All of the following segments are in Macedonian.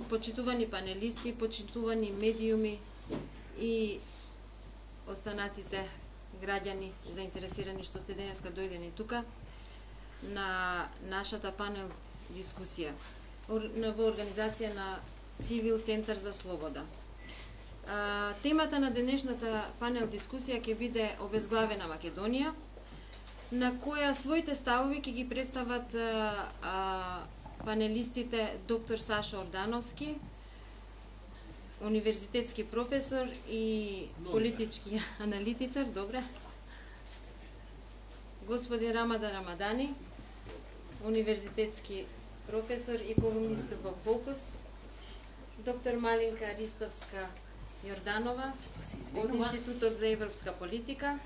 почитувани панелисти, почитувани медиуми и останатите граѓани заинтересирани што сте денеска дојдени тука на нашата панел дискусија во организација на Цивил Центар за Слобода. Темата на денешната панел дискусија ќе биде обезглавена Македонија, на која своите ставови ќе ги представат панелистите доктор Сашо Ордановски, универзитетски професор и политички аналитичар, добре. Господин Рамадан Рамадани, универзитетски професор и колумнист во Фокус. Доктор Малинка Ристовска Јорданова од Институтот за европска политика.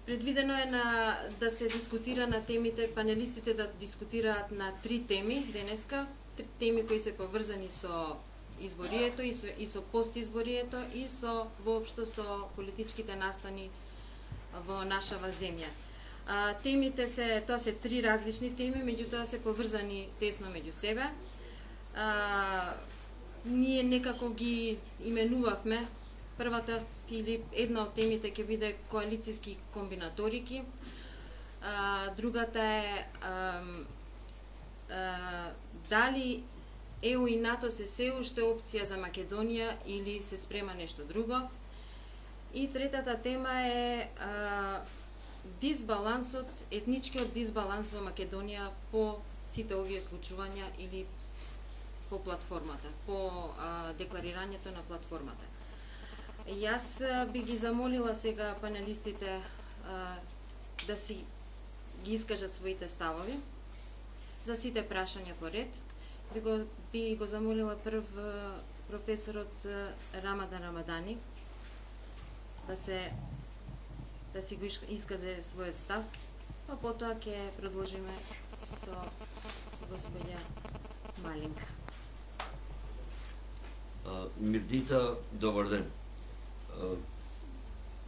Предвидено е да се дискутира на темите, панелистите да дискутираат на 3 теми денеска, 3 теми кои се поврзани со изборието и со постизборието и со воопшто со политичките настани во нашава земја. Темите тоа се 3 различни теми, меѓутоа се поврзани тесно меѓу себе. Ние некако ги именувавме. Првата или една од темите ќе биде коалицијски комбинаторики. Другата е дали ЕУ и НАТО се уште опција за Македонија или се спрема нешто друго. И третата тема е дисбалансот, етничкиот дисбаланс во Македонија по сите овие случувања или по платформата, по декларирањето на платформата. Јас би ги замолила сега панелистите да си ги искажат своите ставови за сите прашања по ред. Би го замолила прв професорот Рамадан Рамадани да си го искаже својот став, а потоа ќе продолжиме со господја Малинка. Мирдита, добар ден.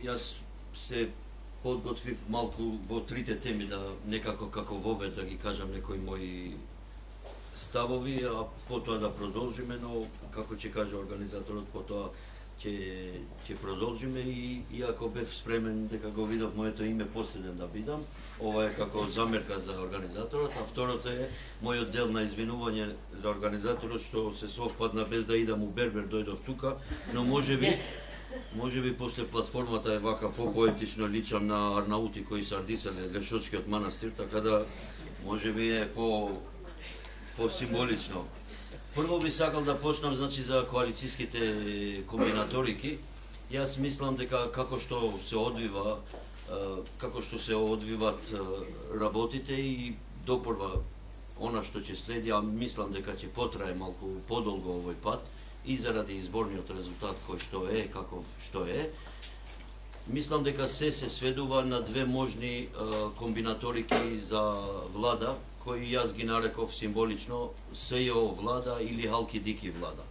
Јас се подготвив малку во 3 теми да некако како вовед да ги кажам некои мои ставови, а потоа да продолжиме, но како ќе каже организаторот, потоа ќе продолжиме и ако бев спремен дека го видов моето име последен да бидам, ова е како замерка за организаторот, а второто е мојот дел на извинување за организаторот што се совпадна без да идам у Бербер, дојдов тука, но можеби после платформата е вака по-поетично личам на арнаути кои се ардисале Лешочкиот манастир, така да можеби е по-символично. Прво би сакал да почнам за коалицијските комбинаторики. Јас мислам дека како што се одвиват работите и допорва она што ќе следи, а мислам дека ќе потрае малку подолго овој пат и заради изборниот резултат кој што е, каков што е. Мислам дека се сведува на 2 можни комбинаторики за влада, кои јас ги нареков символично СЈО влада или Халки-Дики влада.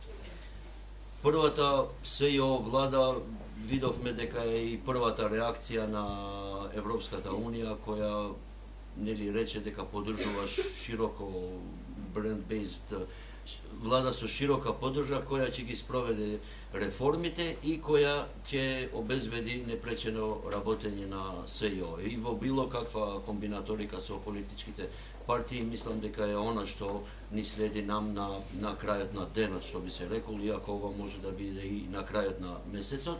Првата СЈО влада видовме дека е и првата реакција на Европската Унија, која рече дека поддржува широко бренд-бейзд влада со широка поддржка, која ќе ги спроведе реформите и која ќе обезбеди непречено работење на СЈО. И во било каква комбинаторика со политичките партии, мислам дека е она што ни следи нам на крајот на денот, што би се рекол, иако ова може да биде и на крајот на месецот.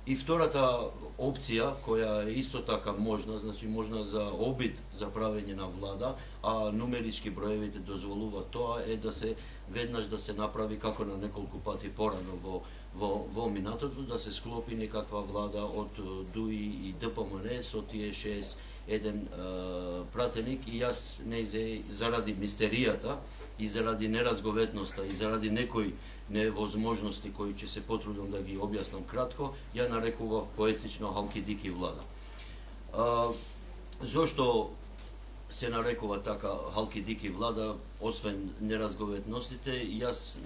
И втората опција, која е исто така можна, можна за обид за правење на влада, а нумерички броевите дозволуваат тоа, е да се веднаш да се направи како на неколку пати порано во минатото, да се склопи некаква влада од ДУИ и ДПМН со тие 61 пратеник, и јас заради мистеријата и заради неразговетноста и заради некои невозможности кои ќе се потрудам да ги објаснам кратко, ја нарекував поетично Халки-Дики влада. Зошто се нарекува така Халки-Дики влада, освен неразговетностите? Јас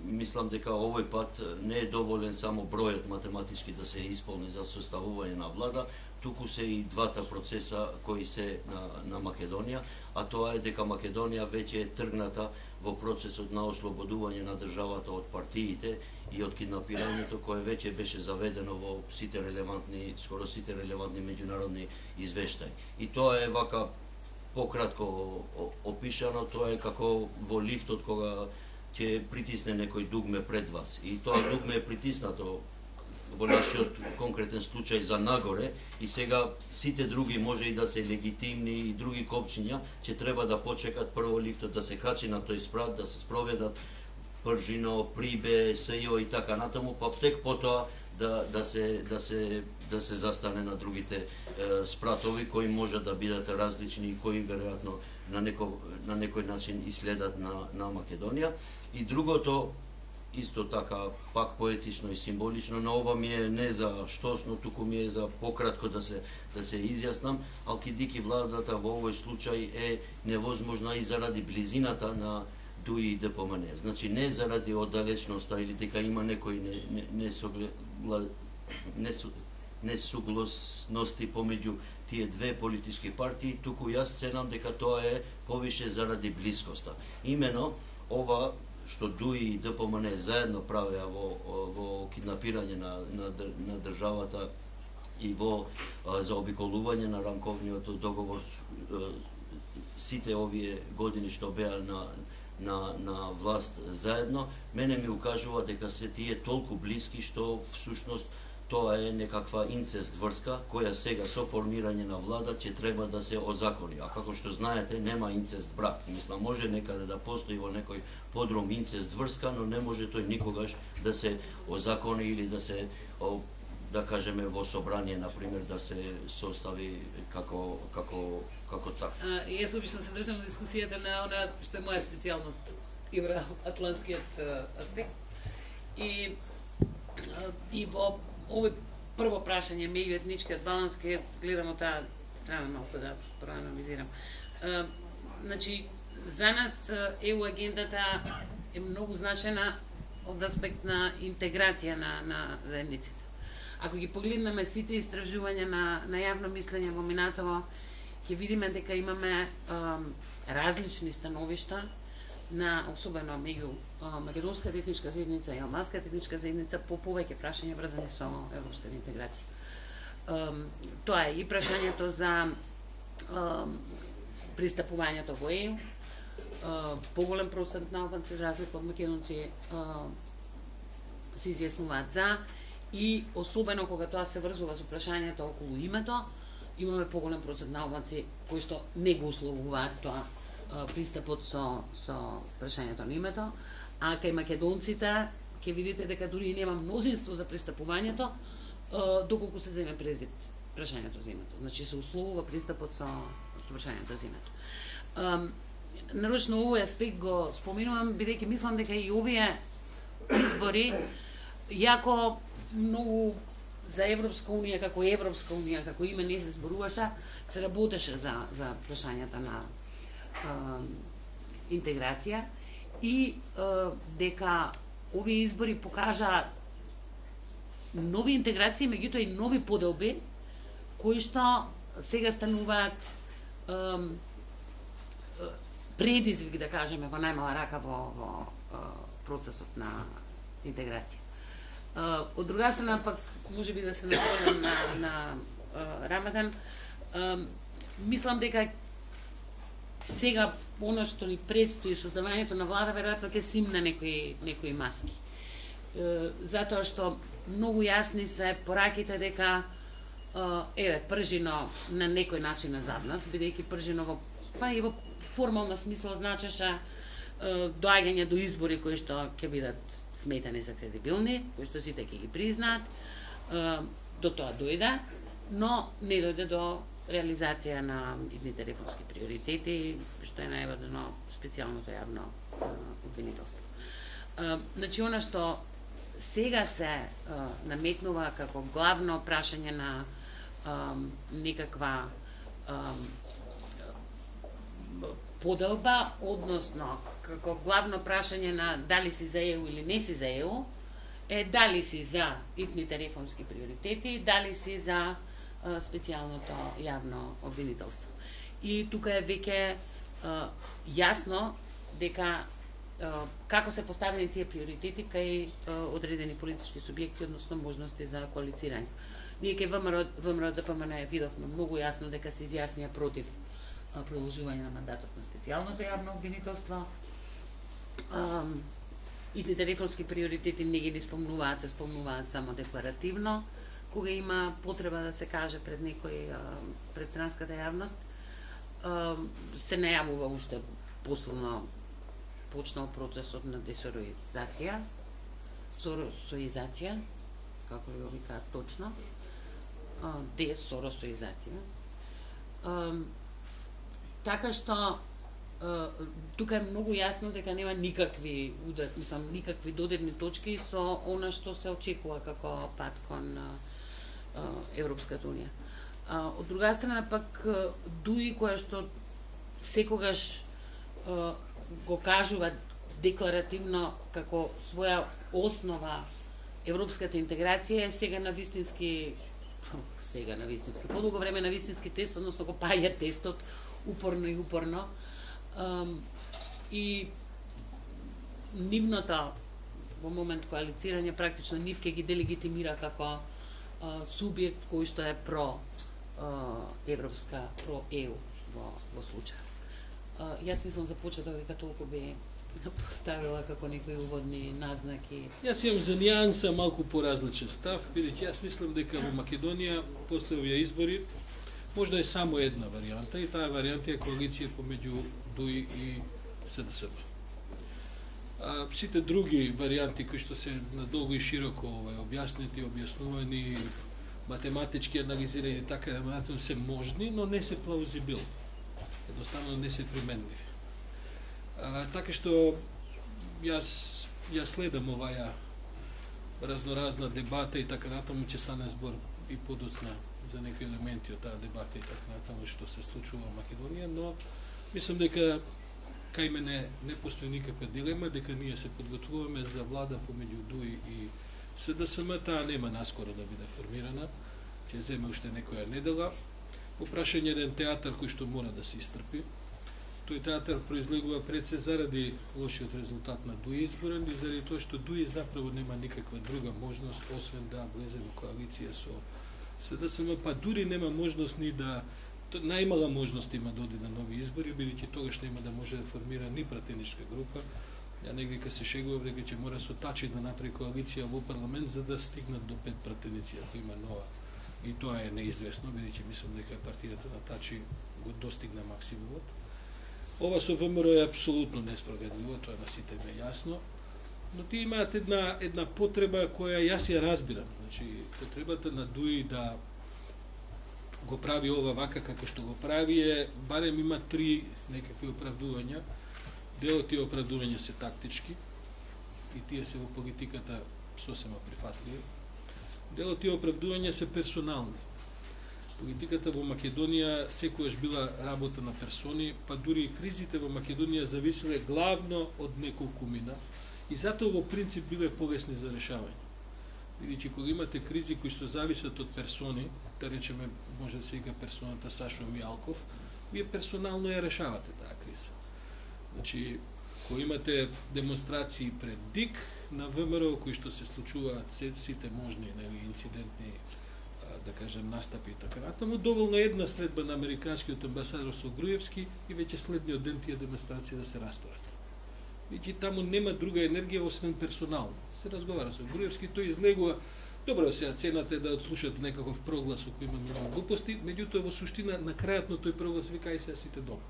мислам дека овој пат не е доволен само бројот математички да се исполни за составување на влада, туку се и двата процеса кои се на Македонија, а тоа е дека Македонија веќе е тргната во процесот на ослободување на државата од партиите и од киднапирањето кое веќе беше заведено во сите релевантни, скоро сите релевантни меѓународни извештаи. И тоа е вака пократко опишано, тоа е како во лифтот кога ќе притисне некој дугме пред вас. И тоа дугме е притиснато во нашиот конкретен случај за нагоре и сега сите други може и да се легитимни и други копчиња ќе треба да почекат прво лифтот да се качи на тој спрат, да се спроведат Пржино, Прибе, СЈО и така натаму, па тек потоа да се застане на другите спратови кои може да бидат различни и кои веројатно на некој начин иследат на Македонија. И другото исто така пак поетично и символично, но ова ми е не за штосно, туку ми е за пократко да се изјаснам, алкидики владата во овој случај е невозможна и заради близината на ДУИ и ДПМН. Значи не заради оддалечноста или дека има некои несугласности помеѓу тие две политички партии, туку јас ценам дека тоа е повише заради блискоста. Имено ова што ДУИ и ДПМН заедно правеа во киднапирање на државата и во заобиколување на рамковниот договор сите овие години што беа на власт заедно, мене ми укажува дека се тие толку блиски што всушност тоа е некаква инцест врска која сега со формирање на влада ќе треба да се озакони. А како што знаете, нема инцест брак. Мислам, може некаде да постои во некој подрум инцест врска, но не може тој никогаш да се озакони или да се, да кажеме, во собрание, например, да се состави како так. Јас обично се држам на дискусијата на она што е моја специјалност, евроатлантскиот аспект. И во овој прво прашање меѓуетничкиот баланс, ке гледам од таа страна малку да проанализирам. Значи, за нас ЕУ агендата е многу значена од аспект на интеграција на заедниците. Ако ги погледнеме сите истражувања на јавно мислење во минатово, ќе видиме дека имаме различни становишта особено меѓу македонската етничка заедница и албанската етничка заедница по повеќе прашања врзани со европската интеграција. Тоа е и прашањето за пристапувањето во ЕУ, поголем процент на албанци за разлика од македонци се изјаснуваат за, и особено кога тоа се врзува со прашањето околу името, имаме поголем процент на албанци кои што не го условуваат тоа пристапот со прашањето на името, а кај македонците ќе видите дека дури и нема мнозинство за пристапувањето доколку се земе предвид прашањето за името. Значи се условува пристапот со прашањето за името. Нарочно овој аспект го споменувам бидејќи мислам дека и овие избори јако многу за Европска унија како име не се зборуваше, се работеше за прашањата на интеграција и дека овие избори покажа нови интеграции, меѓутоа и нови поделби кои што сега стануваат предизвик, да кажеме, во најмала рака во процесот на интеграција. Од друга страна пак можеби да се нафрлам на Рамадан, мислам дека сега оно што ни предстои создавањето на влада веројатно ќе симне некои маски. Затоа што многу јасни се пораките дека Пржино на некој начин е зад нас, бидејќи Пржино па и во формална смисла значеше доаѓање до избори кои што ќе бидат сметани за кредибилни, кои што сите ќе ги признаат. До тоа дојде, но не дојде до реализација на идните реформски приоритети, што е најважно специјалното јавно обвинителство. Значи, она што сега се наметнува како главно прашање на некаква поделба, односно како главно прашање на дали си за ЕУ или не си за ЕУ, е дали си за итните реформски приоритети, дали си за специјалното јавно обвинителство. И тука е веќе јасно дека како се поставени тие приоритети кај одредени политички субјекти, односно можности за коалицирање. Ние кај ВМРО ДПМН видовме многу јасно дека се изјаснија против продолжување на мандатот на специјалното јавно обвинителство. И тите реформски приоритети не ги спомнуваат, се спомнуваат само декларативно, кога има потреба да се каже пред некој, пред странската јавност. Се најавува уште посилно почнал процесот на десороизација, соросоизација, како го викаат точно, десоросоизација. Така што тука е многу јасно дека нема никакви никакви додирни точки со она што се очекува како пат кон Европската унија. Од друга страна пак ДУИ која што секогаш го кажува декларативно како своја основа европската интеграција е сега на вистински подолго време на вистински тест, односно го паѓа тестот упорно и упорно. И нивното во момент коалицирање практично нив ке ги делегитимира како субјект кој што е про европска, про ЕУ во случај. Јас мислам за почеток дека толку би поставила како некои уводни назнаки. Јас имам за нијанса малку поразличен став, бидејќи јас мислам дека во Македонија после овие избори можда е само една варијанта и таа варијанта е коалиција помеѓу ДУИ и СДСМ. Сите други варијанти кои што се надолго и широко објаснети, објаснувани, математички анализирани така натаму се можни, но не се плаузибилни. Едноставно не се применливи. Така што јас следам оваја разноразна дебата и така натаму ќе стане збор и подоцна за некои елементи од таа дебата и така натаму што се случува во Македонија, но мислам дека кај мене не постои никаква дилема дека ние се подготвуваме за влада помеѓу ДУИ и СДСМ. Таа нема наскоро да биде формирана, ќе земе уште некоја недела. По прашање еден театар кој што мора да се истрпи. Тој театар произлегува пред се заради лошиот резултат на ДУИ изборен и заради тоа што ДУИ заправо нема никаква друга можност освен да влезе во коалиција со СДСМ, па дури нема можност ни да најмала можност има да оди на нови избори, бидејќи тогаш нема да може да формира ни пратеничка група. Ја негде се шегувам дека ќе мора со Тачи да направи коалиција во парламент за да стигнат до 5 пратеници, ако има нова. И тоа е неизвестно, бидејќи мислам дека партијата на Тачи го достигна максимумот. Ова со ВМРО е апсолутно несправедливо, тоа на сите ме јасно. Но тие имаат една потреба која јас ја разбирам. Значи, потребата на ДУИ да го прави ова вака како што го прави е, барем има 3 некакви оправдувања. Дел од тие оправдувања се тактички и тие се во политиката сосема прифатливи. Дел од тие оправдувања се персонални. Политиката во Македонија секогаш била работа на персони, па дури и кризите во Македонија зависеле главно од неколку мина и затоа во принцип биле полесни за решавање. Бидејќи кога имате кризи кои што зависат од персони, да речеме може да се вика персоната Сашо Мијалков, вие персонално ја решавате таа криза. Значи, кога имате демонстрации пред ДИК на ВМРО кои што се случуваат сите можни инцидентни да кажем настапи и така натаму, доволно една средба на американскиот амбасадор со Груевски и веќе следниот ден тие демонстрации да се расторат. Бидејќи таму нема друга енергија освен персонално. Се разговара со Груевски, тој излегува. Добро, сега цената е да отслушате некаков проглас кој има многу глупости, меѓутоа во суштина на крајот на тој проглас вика ај сега сите дома.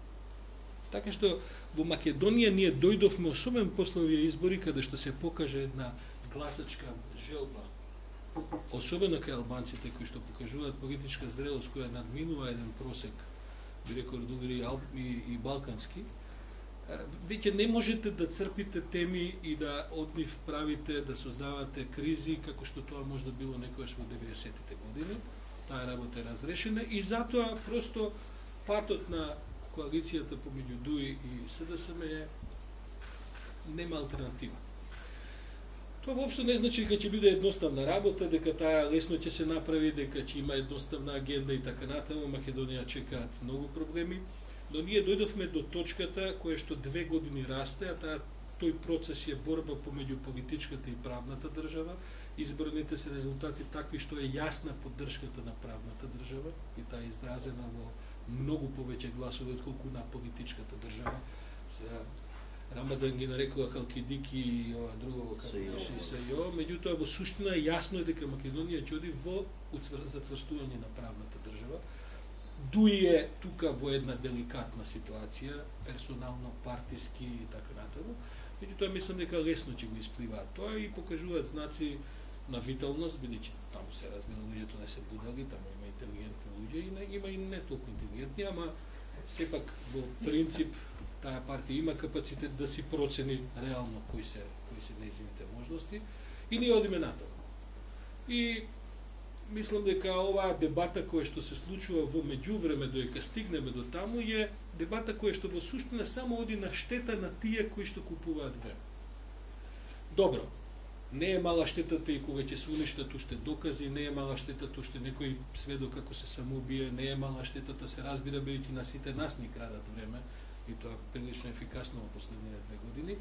Така што во Македонија ние дојдовме особено после овие избори каде што се покаже една гласачка желба. Особено кај албанците кои што покажуваат политичка зрелост која надминува еден просек, би рекол дури и балкански. Веќе не можете да црпите теми и да од нив правите, да создавате кризи, како што тоа може да било некојаш во 90-тите години. Таа работа е разрешена и затоа просто патот на коалицијата помеѓу ДУИ и СДСМ нема алтернатива. Тоа воопшто не значи дека ќе биде едноставна работа, дека таа лесно ќе се направи, дека ќе има едноставна агенда и така натаму. Македонија чекаат многу проблеми, но ние дојдовме до точката која што 2 години расте, а тој процес е борба помеѓу политичката и правната држава. Изборните се резултати такви што е јасна поддршката на правната држава и таа е изразена во многу повеќе гласови отколку на политичката држава. Сега Рамадан ги нарекува халкидики и ова друго како СИО, меѓутоа во суштина е јасно дека Македонија ќе оди во зацврстување на правната држава. Дуи е тука во една деликатна ситуација, персонално, партиски и така натаму. Меѓутоа мислам дека лесно ќе го испливаат тоа и покажуваат знаци на виталност, бидејќи таму се разбира луѓето не се будали, таму има интелигентни луѓе и има и не толку интелигентни, ама сепак во принцип таа партија има капацитет да си процени реално кои се нејзините можности и ние одиме натаму. И мислам дека оваа дебата која што се случува во меѓувреме додека стигнеме до таму е дебата која што во суштина само оди на штета на тие кои што купуваат време. Добро, не е мала штетата и кога ќе се уништат уште докази, не е мала штетата уште некој сведок како се самоубие, не е мала штетата се разбира бидејќи на сите нас ни крадат време и тоа прилично ефикасно во последните 2 години.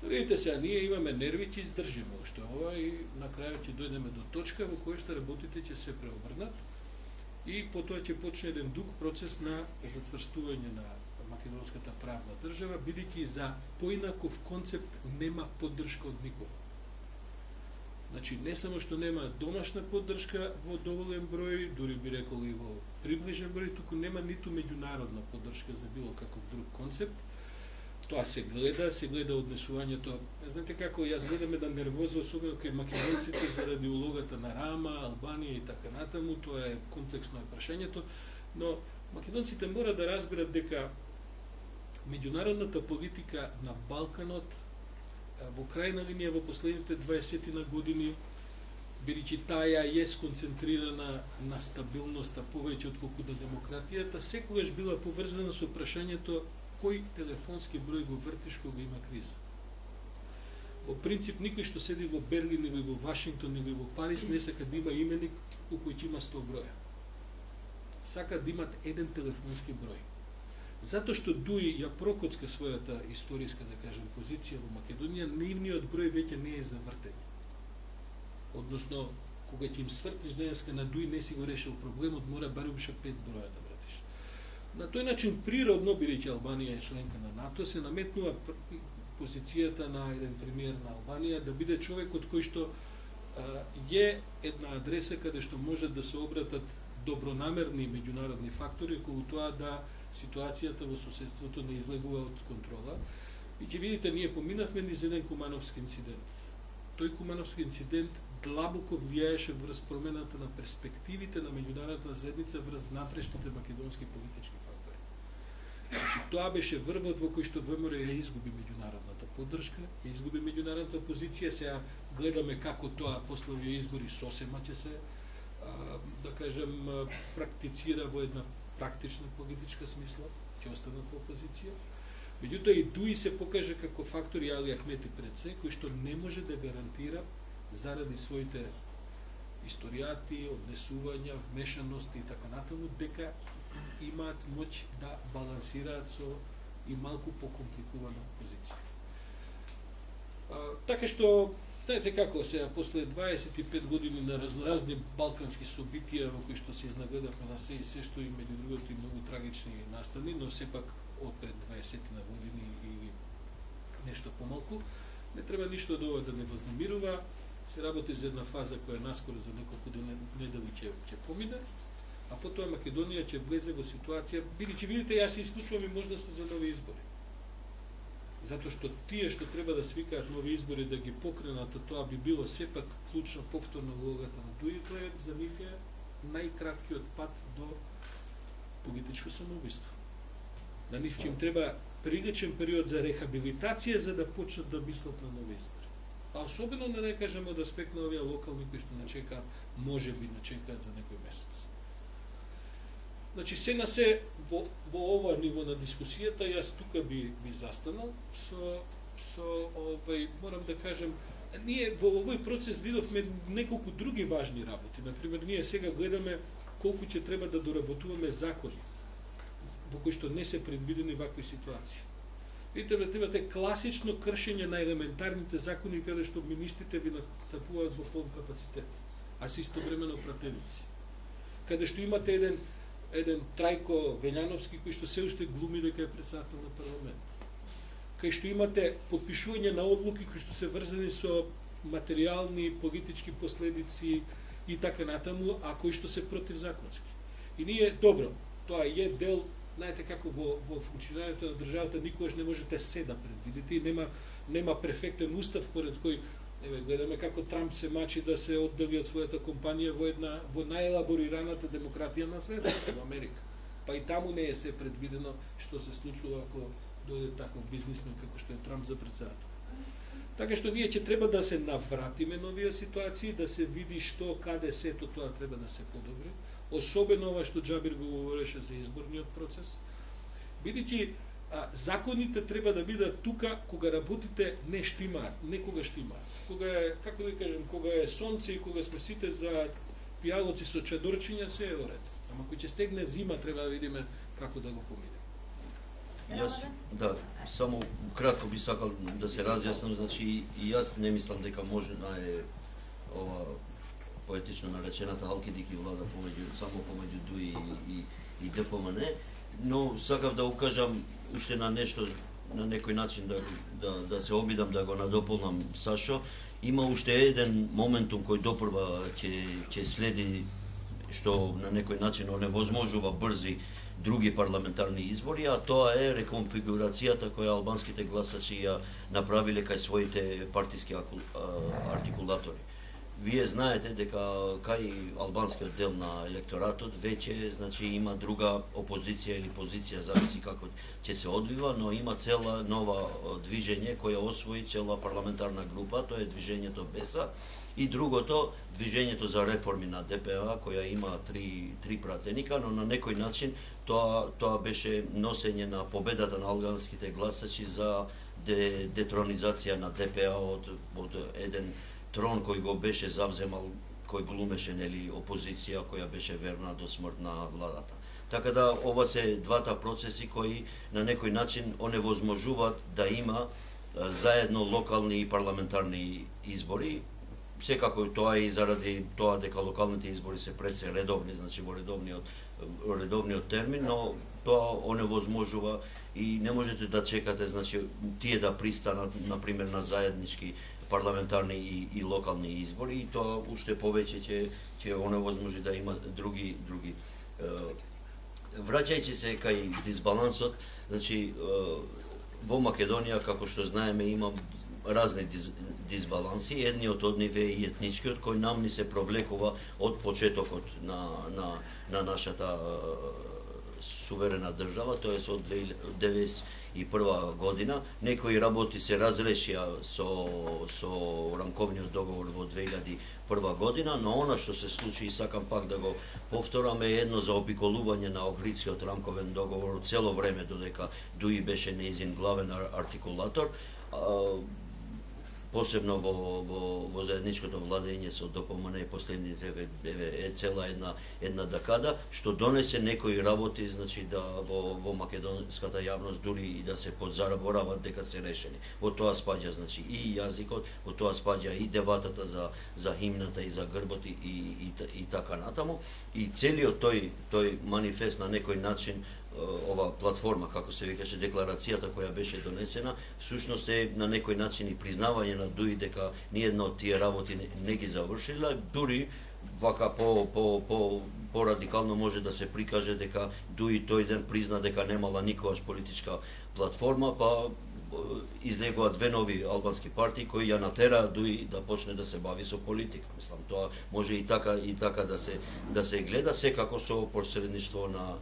Видите сега, ние имаме нерви, ќе издржиме уште ова и на крајот ќе дојдеме до точка во која што работите ќе се преобрнат и потоа ќе почне еден дуг процес на зацврстување на македонската правна држава, бидејќи за поинаков концепт нема поддршка од никого. Значи, не само што нема домашна поддршка во доволен број, дури би рекол и во приближен број, туку нема ниту меѓународна поддршка за било каков друг концепт. Тоа се гледа однесувањето. Знаете како, јас гледам една нервоза, особено кај македонците заради улогата на Рама, Албанија и така натаму, тоа е комплексно прашањето, но македонците мора да разберат дека меѓународната политика на Балканот во крајна линија во последните 20 години, бидејќи таа е сконцентрирана на стабилноста повеќе отколку на демократијата, секогаш била поврзана со прашањето кој телефонски број го вртиш кога има криза. Во принцип, никој што седи во Берлин или во Вашингтон или во Париз не сака да има именик у кој ќе има 100 броја. Сака да имат еден телефонски број. Затоа што Дуи ја прокоцка својата историска, да кажем, позиција во Македонија, нивниот број веќе не е за вртење. Односно, кога ќе им свртиш денеска на Дуи, не си го решил проблемот, мора барем уште 5 броја да вртиш. На тој начин, природно, бидејќи Албанија е членка на НАТО, се наметнува позицијата на еден премиер на Албанија да биде човекот кој што е една адреса каде што може да се обратат добронамерни меѓународни фактори околу тоа да ситуацијата во соседството не излегува од контрола. И ќе видите, ние поминавме низ еден Кумановски инцидент. Тој Кумановски инцидент длабоко влијаеше врз промената на перспективите на меѓународната заедница врз внатрешните македонски политички фактори. Значи, тоа беше врвот во кој што ВМРО ја изгуби меѓународната поддршка, ја изгуби меѓународната позиција, сега гледаме како тоа после овие избори сосема ќе се, да кажем, практицира во една практична политичка смисла, ќе останат во опозиција. Меѓутоа и Дуи се покаже како фактор и Али Ахмети пред се, кој што не може да гарантира заради своите историјати, однесувања, вмешаности и така натаму, дека имаат моќ да балансираат со и малку покомпликувана позиција. Така што, знаете како, сега, после 25 години на разноразни балкански собитија во кои што се изнагледавме на се и се што и меѓу другото и многу трагични настани, но сепак од пред 20 години или нешто помалку, не треба ништо од ова да не вознемирува. Се работи за една фаза која наскоро за неколку недели ќе помине, а потоа Македонија ќе влезе во ситуација, бидејќи видите, јас се исклучувам и можноста за нови избори. Затоа што тие што треба да свикаат нови избори да ги покренат, тоа би било сепак клучна повторна улогата на Дуи, тоа е за нив е најкраткиот пат до политичко самоубиство. На нив ќе им треба приличен период за рехабилитација за да почнат да мислат на нови избори. А особено не кажеме од аспект на овие локални кои што не чекаат, може би не чекаат за некој месец. Значи, се на се во ова ниво на дискусијата, јас тука би застанал со морам да кажем, ние во овој процес видовме неколку други важни работи. Например, ние сега гледаме колку ќе треба да доработуваме закони во кои што не се предвидени вакви ситуации. Видите, имате класично кршење на елементарните закони каде што министрите ви настапуваат во полн капацитет, а се истовремено пратеници. Каде што имате еден Трајко Вењановски кој што се уште глуми дека е претседател на парламент. Кај што имате подпишување на одлуки кои што се врзани со материјални, политички последици и така натаму, а кои што се противзаконски. И ние, добро, тоа е дел, знаете како во функционирањето на државата никогаш не можете се да предвидите и нема перфектен устав поред кој гледаме како Трамп се мачи да се оддави од својата компанија во најелаборираната демократија на светот, во Америка. Па и таму не е се предвидено што се случува ако дојде таков бизнисмен како што е Трамп за претседател. Така што ние ќе треба да се навратиме на овие ситуации, да се види што, каде сето тоа треба да се подобри. Особено ова што Џабир го говореше за изборниот процес. Бидејќи законите треба да бидат тука кога работите не штимаат, некога штимаат. Кога е, како да кажем, кога е сонце и кога сме сите за пијалоци со чадорчиња, се е во ред. Ама кој ќе стегне зима, треба да видиме како да го помине. Јас, да, само кратко би сакал да се разјаснам, значи и јас не мислам дека може ова поетично наречената халкидики влада само помеѓу ДУИ и ДПМН, но сакав да укажам уште на нешто, на некој начин да се обидам да го надополнам Сашо. Има уште еден моментум кој допрва ќе следи, што на некој начин оневозможува брзи други парламентарни избори, а тоа е реконфигурацијата која албанските гласачи ја направиле кај своите партиски артикулатори. Вие знаете дека кај албанскиот дел на електоратот веќе значи има друга опозиција или позиција, зависи како ќе се одвива, но има цела нова движење која освои цела парламентарна група, тоа е движењето БЕСА, и другото движењето за реформи на ДПА која има три пратеника, но на некој начин тоа беше носење на победата на албанските гласачи за детронизација на ДПА од еден трон кој го беше завземал, кој глумеше опозиција која беше верна до смрт на владата. Така да ова се двата процеси кои на некој начин оневозможуваат да има заедно локални и парламентарни избори. Секако тоа и заради тоа дека локалните избори се пред се редовни, значи во редовниот термин, но тоа оневозможува и не можете да чекате, значи тие да пристанат на пример на заеднички парламентарни и локални избори, и тоа уште повеќе ќе оневозможи да има други. Враќајќи се кај дисбалансот, значи во Македонија, како што знаеме, има разни дисбаланси. Едниот од нив е и етничкиот, кој нам ни се провлекува од почетокот на нашата суверена држава, тоа е од 1991 година. Некои работи се разрешија со рамковниот договор во 2001 година, но она што се случи, и сакам пак да го повторам, е едно заобиколување на Охридскиот рамковен договор цело време додека ДУИ беше нејзин главен артикулатор, посебно во заедничкото владење со ДПМН последните цела една декада, што донесе некои работи, значи да во македонската јавност дури и да се подзаборават дека се решени. Во тоа спаѓа значи и јазикот, во тоа спаѓа и дебатата за химната и за грбот и така натаму, и целиот тој манифест на некој начин, ова платформа, како се викаше, декларацијата која беше донесена, всушност е на некој начин и признавање на ДУИ дека ниедна од тие работи не ги завршила, дури вака по-радикално може да се прикаже дека ДУИ тој ден призна дека немала никогаш политичка платформа, па излегува две нови албански партии кои ја натераа ДУИ да почне да се бави со политика. Мислам, тоа може и така да се гледа, секако со посредништво на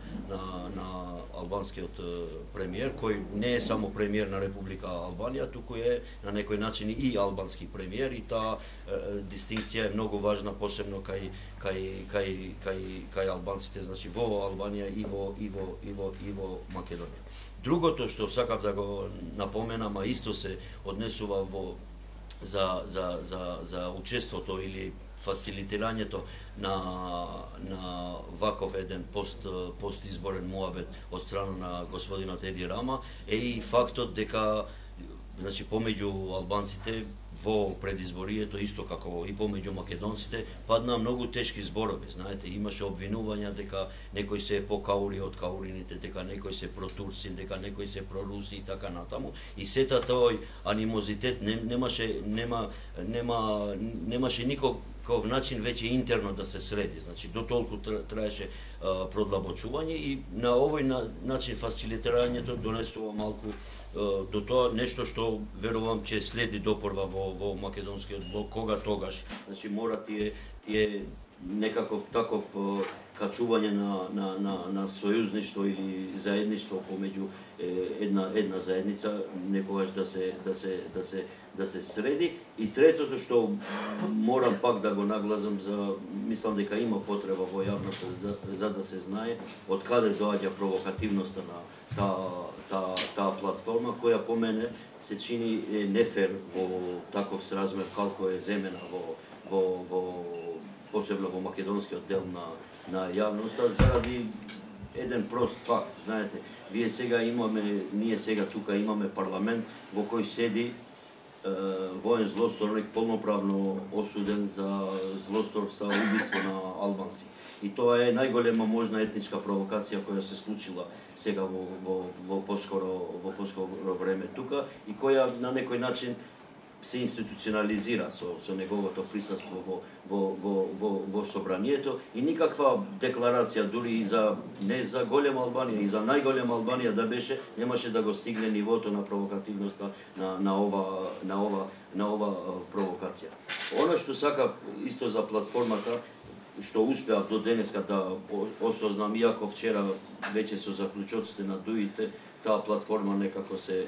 албанскиот премиер, кој не е само премиер на Република Албанија, туку е на некој начин и албански премиер, и таа дистинкција е многу важна, посебно кај албанците, значи во Албанија и во Македонија. Другото што сакав да го напоменам, а исто се однесува за учеството или фасилитирањето на ваков еден постизборен муабет од страна на господинот Еди Рама е и фактот дека значи помеѓу албанците во предизборието, исто како и помеѓу македонците, паднаа многу тешки зборови. Знаете, имаше обвинувања дека некои се покаури од каурините, дека некои се протурци, дека некои се проруси и така натаму. И сета тој анимозитет немаше никаков начин веќе интерно да се среди. Значи, до толку траеше продлабочување и на овој начин фасилитирањето донесува малку до тоа нешто што верувам ќе следи допорва во македонскиот блок, кога тогаш, значи мора тие некаков таков качување на сојузништво или заедништво помеѓу една заедница некогаш да се среди. И третото што морам пак да го нагласам, мислам дека има потреба во јавноста за да се знае од каде доаѓа провокативноста на таа платформа, која по мене се чини нефер во таков сразмер колку е земена во посебно во македонскиот дел на јавноста, заради еден прост факт. Знаете, ние сега тука имаме парламент во кој седи воен злосторник полноправно осуден за злосторство, убиство на албанци. И тоа е најголема можна етничка провокација која се случила сега во поскоро време тука и која на некој начин се институционализира со неговото присуство во собранието и никаква декларација дури и не за голема Албанија и за најголема Албанија да беше, немаше да го стигне нивото на провокативноста на ова провокација. Она што сакав исто за платформата, што успеав до денеска да осознам, иако вчера веќе со заклучоците на дуите, таа платформа некако се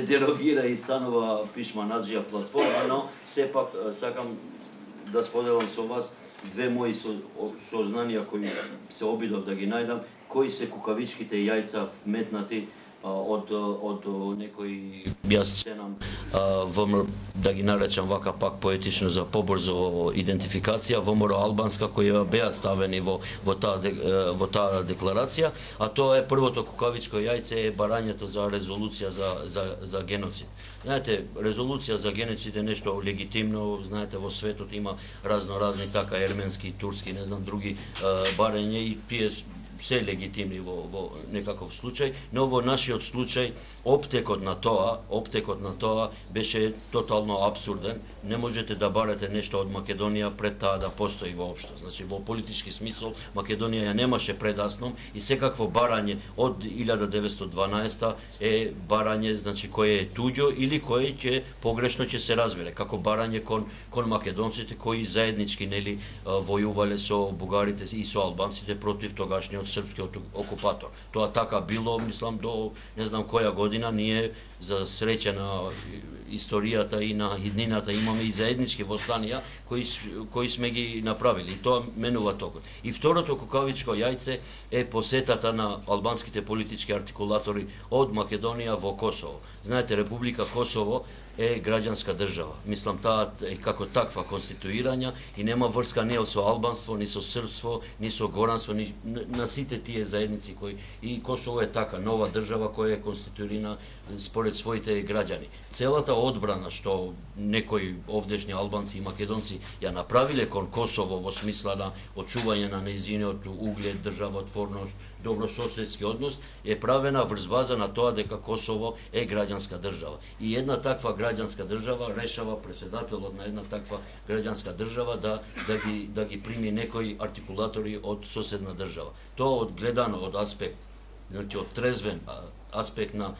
дерогира и станува пишманаџија платформа, но сепак сакам да споделам со вас две мои сознанија кои се обидов да ги најдам, кои се кукавичките јајца вметнати од некои сценам да ги наречам вака пак поетично за побрзо идентификација ВМРО албанска кои беа ставени во таа декларација, а тоа е првото кукавичко јајце е барањето за резолуција за геноцид. Знаете, резолуција за геноцид е нешто легитимно, знаете, во светот има разни така ерменски, турски, не знам, други барања и тие се легитимни во некаков случај, но во нашиот случај оптекот на тоа беше тотално абсурден. Не можете да барате нешто од Македонија пред таа да постои воопшто. Значи во политички смисол Македонија ја немаше предасном и секакво барање од 1912 е барање, значи кое е туѓо или кое ќе погрешно ќе се разбере, како барање кон македонците кои заеднички нели војувале со бугарите и со албанците против тогашниот српскиот окупатор. Тоа така било, мислам, до не знам која година. Ние за среќа на историјата и на иднината имаме и заеднички востанија кои сме ги направили. И тоа менува токот. И второто кукавичко јајце е посетата на албанските политички артикулатори од Македонија во Косово. Знаете, Република Косово е граѓанска држава. Мислам, таа е како таква конституирања и нема врска ни со албанство, ни со српство, ни со горанство, ни на сите тие заедници кои и Косово е така нова држава која е конституирана според своите граѓани. Целата одбрана што некои овдешни албанци и македонци ја направиле кон Косово во смисла на очување на нејзиниот углед, државотворност, добрососедски однос е правена врз база на тоа дека Косово е граѓанска држава. И една таква граѓанска држава решава преседателот на една таква граѓанска држава да ги прими некои артикулатори од соседна држава. Тоа одгледано од аспект, значи од трезвен аспект на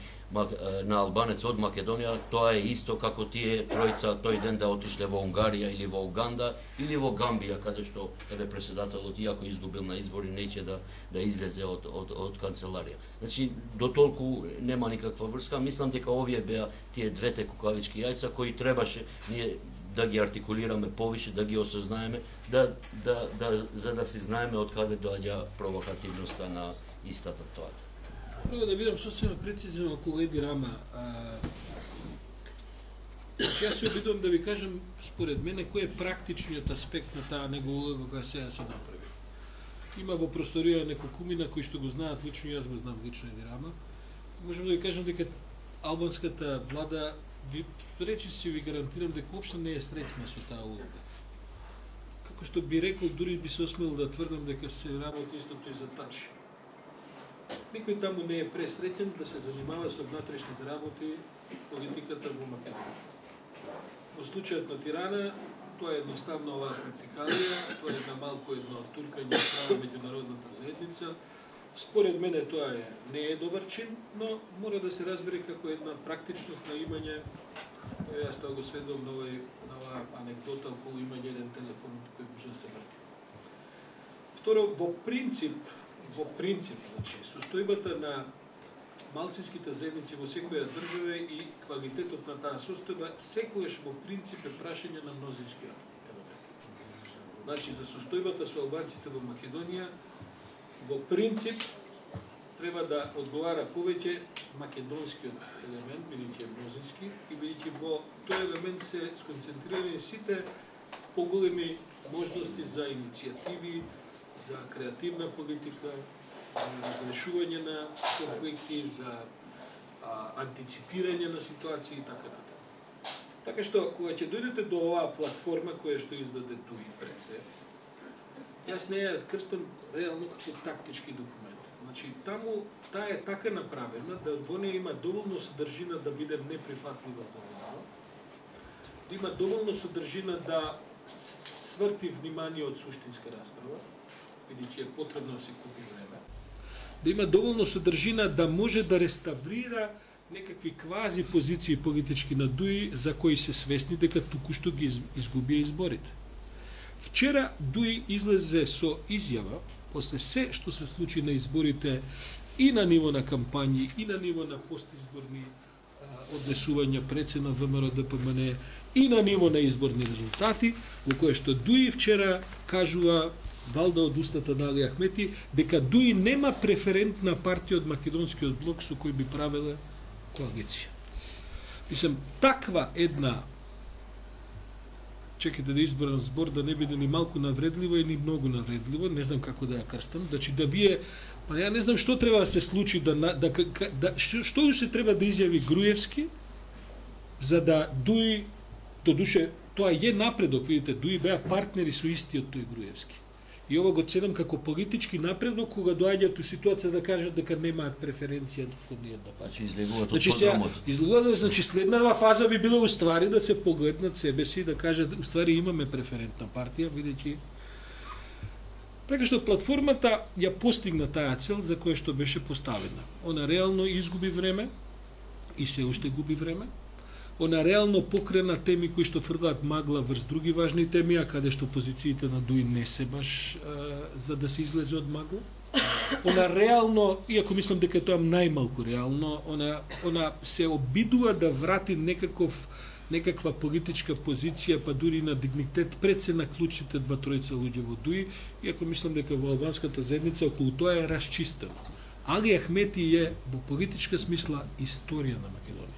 албанец од Македонија, тоа е исто како тие тројца тој ден да отишле во Унгарија или во Уганда или во Гамбија, каде што председателот, иако изгубил на избори, неќе да излезе од канцеларија. Значи, до толку нема никаква врска. Мислам дека овие беа тие двете кукавички јајца кои требаше ние да ги артикулираме повише, да ги осознаеме, за да си знаеме од каде доаѓа провокативноста на истата тоа. Прво да бидам сосема прецизен околу Еди Рама. Значи, јас се обидувам да ви кажам, според мене, кој е практичниот аспект на таа негова улога која сега се направи. Има во просторија неколкумина кои што го знаат лично, јас го знам лично и Рама. Можем да ви кажам дека албанската влада, речиси ви гарантирам дека уопшто не е среќна со таа улога. Како што би рекол, дури би се осмел да тврдам дека се работи истото и за Тачи. Никој таму не е пресреќен да се занимава со внатрешните работи, политиката во Македонија. Во случајот на Тирана, тоа е едноставно оваа практикалија, тоа е на малку едно туркање права меѓународната заедница. Според мене тоа не е добар чин, но мора да се разбере како една практичност на имање. Јас тоа го сведувам на оваа анекдота околу имање еден телефон кој може да се врти. Второ, во принцип, значи, состојбата на малцинските заедници во секоја држава и квалитетот на таа состојба секогаш во принцип е прашање на мнозинскиот елемент. Значи, за состојбата со албанците во Македонија, во принцип треба да одговара повеќе македонскиот елемент, бидејќи е мнозински, и бидејќи во тој елемент се сконцентрирани сите поголеми можности за иницијативи, за креативна политика, за разрешување на конфликти, за антиципирање на ситуации и така натаму. Така што, кога ќе дојдете до оваа платформа која што издаде ТУИ пред се, јас не ја крстам реално како тактички документ. Значи, таму таа е така направена да во неја има доволно содржина да биде неприфатлива за влада, да има доволно содржина да сврти внимание од суштинска расправа, бидејќи е потребно да се купи време. Да има доволно содржина да може да реставрира некакви квази позиции политички на ДУИ за кои се свесни дека току-што ги изгубија изборите. Вчера ДУИ излезе со изјава, после се што се случи на изборите и на ниво на кампањи, и на ниво на постизборни однесувања пред се на ВМРО ДПМН, и на ниво на изборни резултати, во кое што ДУИ вчера кажува, валда од устата на Али Ахмети, дека ДУИ нема преферентна партија од македонскиот блок со кој би правеле коалиција. Мислам, таква една, чекайте да изберам збор да не биде ни малку навредливо и ни многу навредливо, не знам како да ја крстам, значи да вие, па ја не знам што треба да се случи, што се треба да изјави Груевски, за да ДУИ, до душе, тоа е напредок, видите, ДУИ беа партнери со истиот тој Груевски. И ова го ценам како политички напредок, кога доаѓаат у ситуација да кажат дека немаат преференција од ниједна партија. Излегуваат од програмот. Излегуваат, значи следнава фаза би била уствари да се погледнат себе си и да кажат уствари имаме преферентна партија, бидејќи така што платформата ја постигна таа цел за која што беше поставена. Она реално изгуби време и се уште губи време. Она реално покрена теми кои што фрлаат магла врз други важни теми, а каде што позициите на ДУИ не се баш за да се излезе од магла. Она реално, иако мислам дека тоа најмалку реално, она се обидува да врати некаква политичка позиција, па дури на дигнитет пред се на клучните два-тројца луѓе во ДУИ, иако мислам дека во албанската заедница околу тоа е расчистено. Али Ахмети е во политичка смисла историја на Македонија.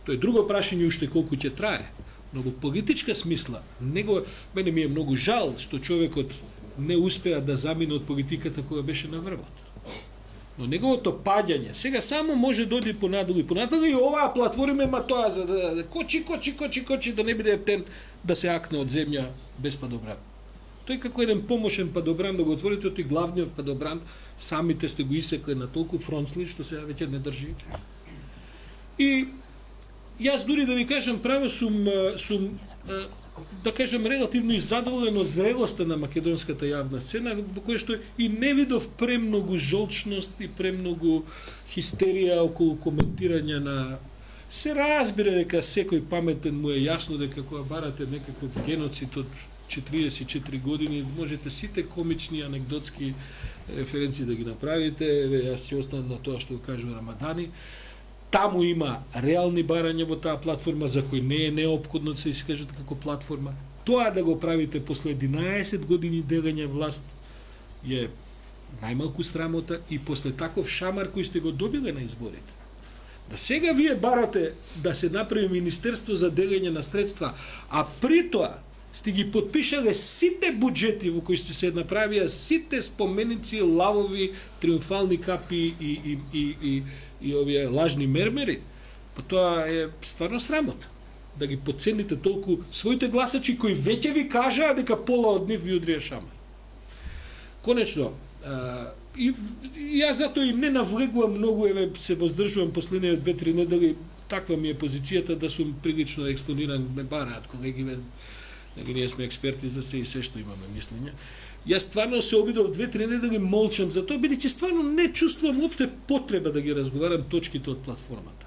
Тоа е друго прашање уште колку ќе трае, но во политичка смисла, мене ми е многу жал што човекот не успеа да замине од политиката кога беше на врвот. Но неговото падање, сега само може да оди понадолу и оваа платформа има тоа за да кочи, да не биде ептен да се акне од земја без падобран. Тој како еден помошен падобран да го отворите од тој главниот падобран, самите сте го исекли на толку фронцли што сега веќе не држи. И јас дури да ви кажам право сум да кажам релативно и задоволен од зрелоста на македонската јавна сцена, во која што и не видов премногу жолчност и премногу хистерија околу коментирање на. Се разбира дека секој паметен му е јасно дека кога барате некаков геноцид од 44 години, можете сите комични анекдотски референции да ги направите. Јас ќе останам на тоа што го кажува Рамадани. Таму има реални барања во таа платформа за кој не е неопходно да се искажат како платформа. Тоа да го правите после 11 години делење власт е најмалку срамота и после таков шамар кој сте го добиле на изборите. Да сега вие барате да се направи Министерство за делење на средства, а при тоа сте ги подпишале сите буџети во кои се направија сите споменици, лавови, триумфални капи и овие лажни мермери, па тоа е стварно срамота. Да ги подцените толку своите гласачи кои веќе ви кажаа дека пола од нив ви удрија шамар. Конечно, и јас затоа и не навлегувам многу, се воздржувам последните 2-3 недели, таква ми е позицијата да сум прилично експониран, ме бараат колеги, ние сме експерти за се и се што имаме мислење. Јас стварно се обидов 2-3 недели молчам за тоа, бидејќи стварно не чувствувам уопште потреба да ги разговарам точките од платформата.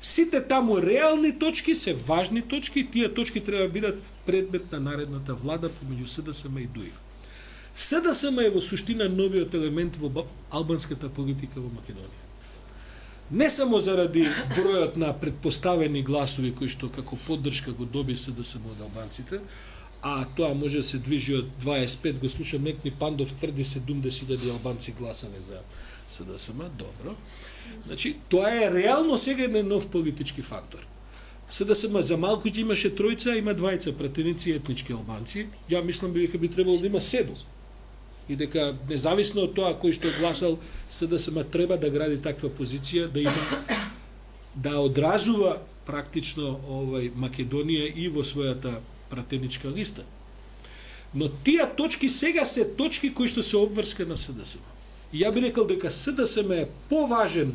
Сите таму реални точки се важни точки и тие точки треба да бидат предмет на наредната влада помеѓу СДСМ и ДУИ. СДСМ е во суштина новиот елемент во албанската политика во Македонија. Не само заради бројот на предпоставени гласови кои што како поддршка го доби СДСМ од албанците, а тоа може да се движи од 25, го слушам некни Пандов тврди 70.000 албанци гласале за СДСМ, добро. Значи, тоа е реално сега еден нов политички фактор. СДСМ за малку ќе имаше тројца, има двајца пратеници етнички албанци. Ја мислам дека би требало да има 7. И дека независно од тоа кој што гласал, СДСМ треба да гради таква позиција, да има да одразува практично Македонија и во својата пратеничка листа. Но тие точки сега се точки кои што се обврска на СДСМ. И ја би рекол дека СДСМ е поважен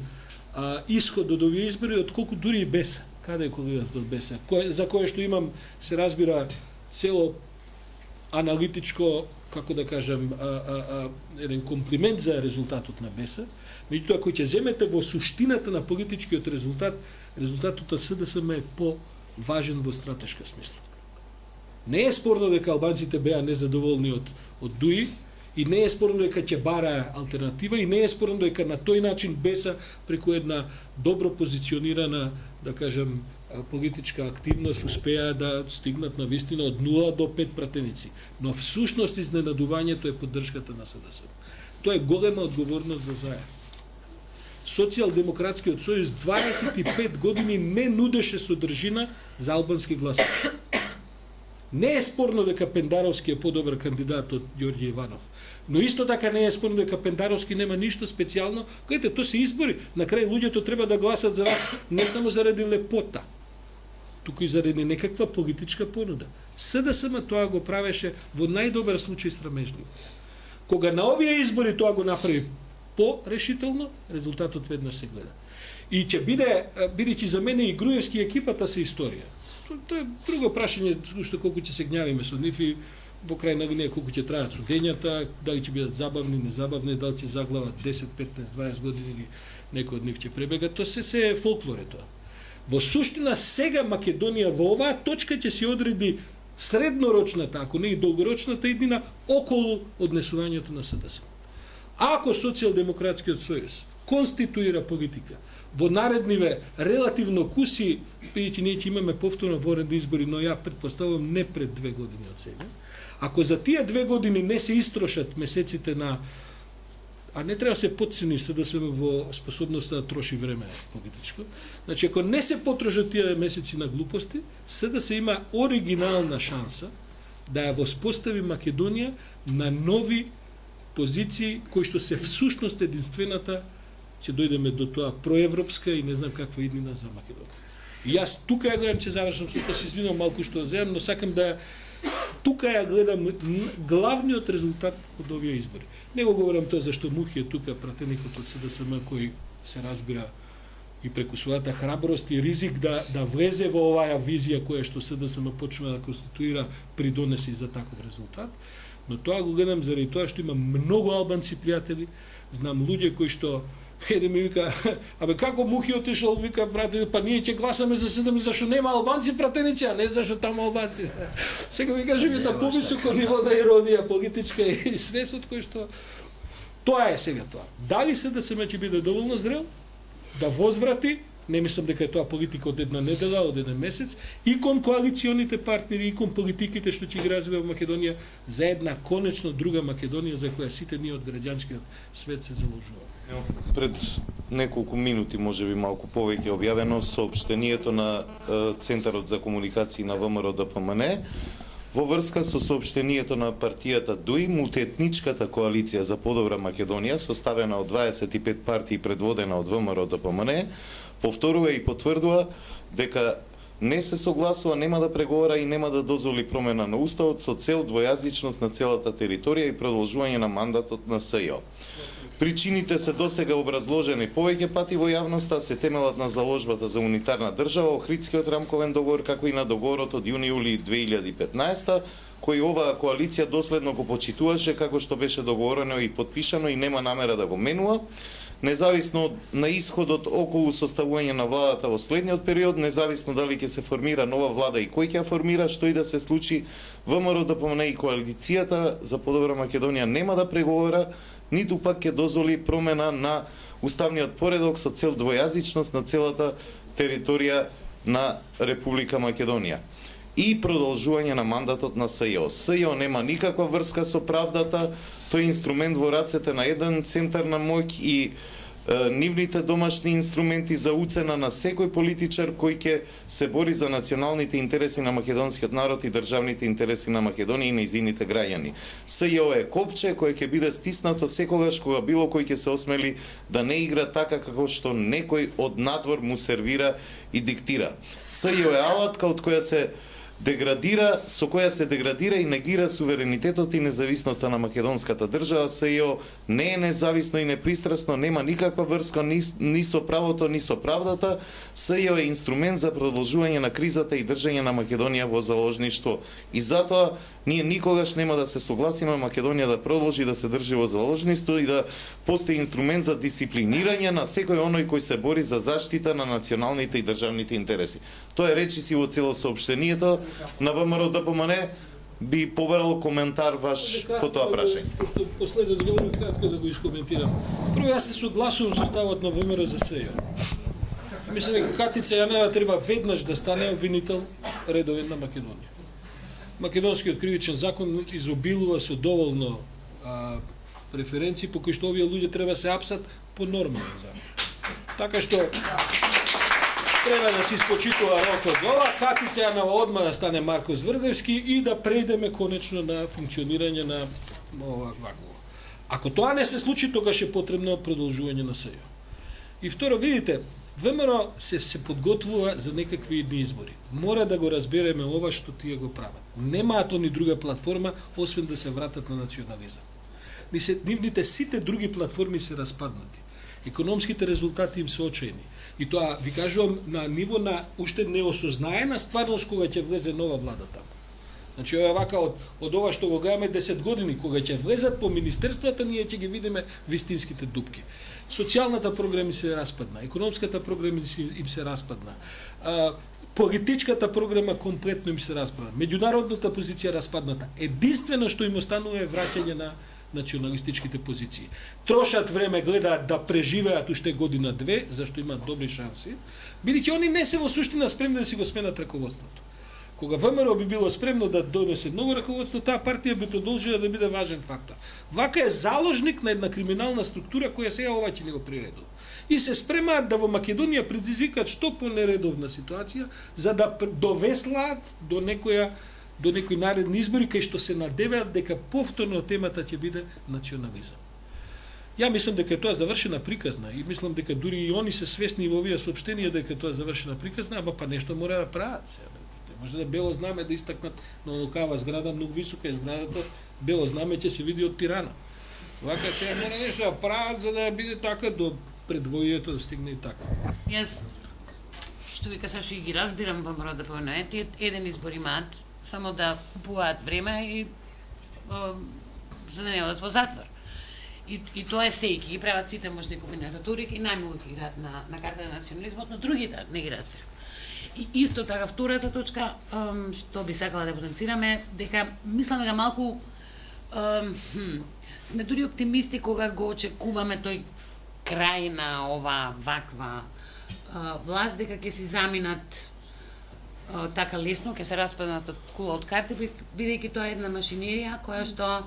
исход од овие избори отколку дури и БЕС. Каде е колегата од БЕС? За кое што имам, се разбира, цело аналитичко, како да кажам, еден комплимент за резултатот на БЕС. Меѓутоа, кој ќе земете во суштината на политичкиот резултат, резултатот на СДСМ е поважен во стратешка смисла. Не е спорно дека албанците беа незадоволни од ДУИ, и не е спорно дека ќе бараа алтернатива, и не е спорно дека на тој начин БЕС преку една добро позиционирана, да кажам, политичка активност успеа да стигнат на вистина од 0 до 5 пратеници. Но всушност изненадувањето е поддршката на СДСМ. Тоа е голема одговорност за ЗАЕ. Социјалдемократскиот сојуз 25 години не нудеше содржина за албански гласачи. Не е спорно дека Пендаровски е подобар кандидат од Ѓорѓе Иванов. Но исто така не е спорно дека Пендаровски нема ништо специјално. Гледате, тоа се избори. На крај луѓето треба да гласат за вас не само заради лепота, туку и заради некаква политичка понуда. СДСМ тоа го правеше во најдобар случај срамежливо. Кога на овие избори тоа го направи по-решително, резултатот веднаш се гледа. И ќе биде, бидејќи за мене и Груевски екипата се историја. Тоа е друго прашање, што колку ќе се гњавиме со нив и во крај на линија колку ќе трајат судењата, дали ќе бидат забавни, незабавни, дали ќе заглават 10, 15, 20 години или некој од нив ќе пребегат, тоа се е фолклоре тоа. Во суштина сега Македонија во оваа точка ќе се одреди среднорочната, ако не и долгорочната иднина околу однесувањето на СДСМ. Ако Социјалдемократскиот сојуз конституира политика во наредниве релативно куси, бидејќи ние ќе имаме повторно воредни избори, но ја претпоставувам не пред 2 години од сега. Ако за тие 2 години не се истрошат месеците на, а не треба се потцени СДСМ во способноста да троши време политичко, значи ако не се потрошат тие месеци на глупости, СДСМ има оригинална шанса да ја воспостави Македонија на нови позиции кои што се всушност единствената, ќе дојдеме до тоа проевропска и не знам каква иднина за Македонија. И јас тука ја гледам, ќе завршам, што се извинувам малку што земам, но сакам да тука ја гледам главниот резултат од овие избори. Не го говорам тоа зашто Мухи е тука пратеникот од СДСМ кој се разбира и преку својата храброст и ризик да влезе во оваа визија која што СДСМ почнува да конституира придонесе за таков резултат. Но тоа го гледам заради тоа што има многу албанци пријатели, знам луѓе кои што еден ми вика, абе како Мухи отишол, вика брате, па ние ќе гласаме за 7 зашто нема албанци пратеници, а не зашто таму албанци. Сега ви кажам една повисоко ниво на иронија политичка и свест од кој што тоа е сега тоа. Дали СДСМ ќе биде доволно зрел да возврати не мислам дека е тоа политика од една недела, од еден месец, и кон коалиционите партнери, и кон политиките што ќе ги развива Македонија за една конечно друга Македонија за која сите ние од граѓанскиот свет се заложуваме. Пред неколку минути, можеби малку повеќе, објавено соопштението на Центарот за комуникации на ВМРО ДПМН во врска со соопштението на партијата ДУИ, мултиетничката коалиција за подобра Македонија, составена од 25 партии предводена од ВМРО ДПМН, повторува и потврдува дека не се согласува, нема да преговара и нема да дозволи промена на уставот со цел двојазичност на целата територија и продолжување на мандатот на СЈО. Причините се досега образложени повеќе пати во јавноста, се темелат на заложбата за унитарна држава, Охридскиот рамковен договор, како и на договорот од јуни-јули 2015, кој оваа коалиција доследно го почитуваше како што беше договорено и подпишано и нема намера да го менува. Независно на исходот околу составување на владата во следниот период, независно дали ќе се формира нова влада и кој ќе ја формира, што и да се случи, ВМРО ДПМН и коалицијата за подобра Македонија нема да преговара, ниту пак ќе дозволи промена на уставниот поредок со цел двојазичност на целата територија на Република Македонија и продолжување на мандатот на СЈО. СЈО нема никаква врска со правдата, тој е инструмент во рацете на еден центар на моќ и нивните домашни инструменти за уцена на секој политичар кој ќе се бори за националните интереси на македонскиот народ и државните интереси на Македонија и нејзините граѓани. СЈО е копче кој ќе биде стиснато секогаш кога било кој ќе се осмели да не игра така како што некој од надвор му сервира и диктира. СЈО е алатка од која се со која се деградира и негира суверенитетот и независноста на македонската држава. СЈО не е независно и непристрасно, нема никаква врска ни со правото, ни со правдата. СЈО е инструмент за продолжување на кризата и држање на Македонија во заложништво. И затоа ние никогаш нема да се согласиме Македонија да продолжи да се држи во заложништво и да постои инструмент за дисциплинирање на секој оној кој се бори за заштита на националните и државните интереси. Тоа е речиси во цело соопштението на ВМРО ДПМН. Би побарал коментар ваш по тоа прашање. Пошто последно говорам кратко да го искоментирам. Прво, јас се согласувам со ставот на ВМРО за СЈО. Мислам дека Катица Јанева треба веднаш да стане обвинител редовен на Македонија. Македонскиот кривичен закон изобилува со доволно преференции по кои што овие луѓе треба се апсат по нормален закон. Така што треба да се испочитува рокот ова, Катица Јанева одма да стане Марко Зврдевски и да преидеме конечно на функционирање на вакво. Ако тоа не се случи, тогаш е потребно продолжување на СЈО. И второ, видите, ВМРО се подготвува за некакви идни избори. Мора да го разбереме ова што тие го прават. Немаат они друга платформа, освен да се вратат на национализам. Нивните сите други платформи се распаднати. Економските резултати им се очајни. И тоа ви кажувам на ниво на уште неосознаена стварност кога ќе влезе нова влада таму. Значи ова вака од ова што го гледаме 10 години, кога ќе влезат по министерствата, ние ќе ги видиме вистинските дупки. Социјалната програма се распадна, економската програма им се распадна, политичката програма комплетно им се распадна, меѓународната позиција распадната. Единствено што им останува е враќање на националистичките позиции. Трошат време, гледаат да преживеат уште година-две, зашто имаат добри шанси, бидејќи они не се во суштина спремни да си го сменат раководството. Кога ВМРО би било спремно да донесе ново раководство, таа партија би продолжила да биде важен фактор. Вака е заложник на една криминална структура која сега ова ќе ни го приредува. И се спремаат да во Македонија предизвикаат што понередовна ситуација за да довеслаат до некои наредни избори кај што се надеваат дека повторно темата ќе биде национализам. Ја мислам дека тоа завршена приказна и мислам дека дури и они се свесни во овие соопштенија дека тоа завршена приказна, ама па нешто мора да прават сега. Може да бело знаме да истакнат на локава зграда, многу висока е зградата, бело знаме ќе се види од Тирана. Вака сега мора нешто да прават за да биде така до предвојето да стигне и така. Јас што ви кажеш и ги разбирам ВМРО ДПМН, тие еден избор имаат само да купуваат време и за да не одат во затвор. И тоа е сејки, ги прават сите можни комбинатури и најмногу ги играат на карта на национализмот, но другите не ги разбирам. И исто така втората точка што би сакала да потенцираме дека мислам дека малку сме дури оптимисти кога го очекуваме тој крај на ова ваква власт дека ќе си заминат така лесно, ќе се распаднат од кула од карти, бидејќи тоа е една машинерија која што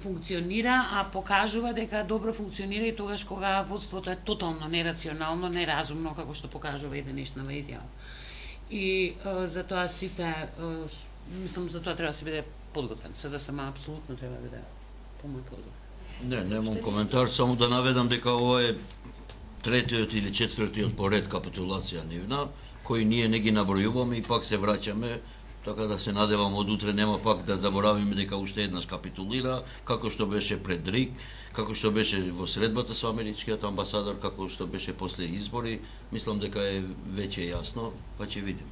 функционира, а покажува дека добро функционира и тогаш кога водството е тотално нерационално, неразумно, како што покажува и денешнава изјава. И затоа сите, мислам, затоа треба да се биде подготвен. СДСМ апсолутно треба да биде помој подготвен. Немам коментар, само да наведам дека ова е третиот или четвртиот поред капитулација нивна, кои ние не ги набројуваме и пак се враќаме. Така да се надевам од утре нема пак да заборавиме дека уште еднаш капитулира, како што беше пред РИК, како што беше во средбата со америчкиот амбасадор, како што беше после избори. Мислам дека е веќе јасно, па ќе видиме.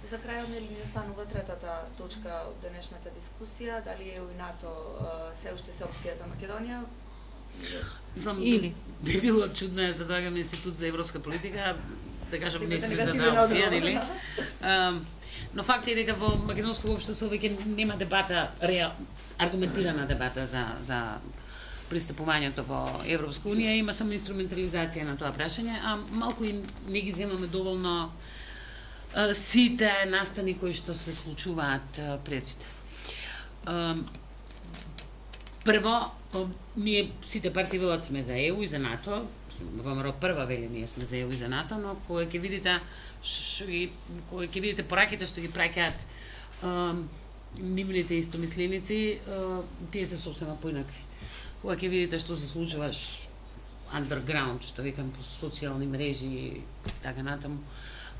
За крајот нели ни останува третата точка од денешната дискусија, дали ЕУ и НАТО се уште се опција за Македонија? Мислам, би било чудно за да доаѓаме институт за европска политика, да кажам не сме за таа опција, нели? Но факт е дека во македонско општество веќе нема дебата, аргументирана дебата за пристапувањето во Европска унија, има само инструментализација на тоа прашање, а малку и не ги земаме доволно сите настани кои што се случуваат пред. Прво, ние сите партии велат сме за ЕУ и за НАТО, ВМРО прва вели ние сме за ЕУ и за НАТО, но кога ќе видите пораките што ги праќаат нивните истомисленици, тие се сосема поинакви. Кога ќе видите што се случува underground, што викам по социјални мрежи и така натаму,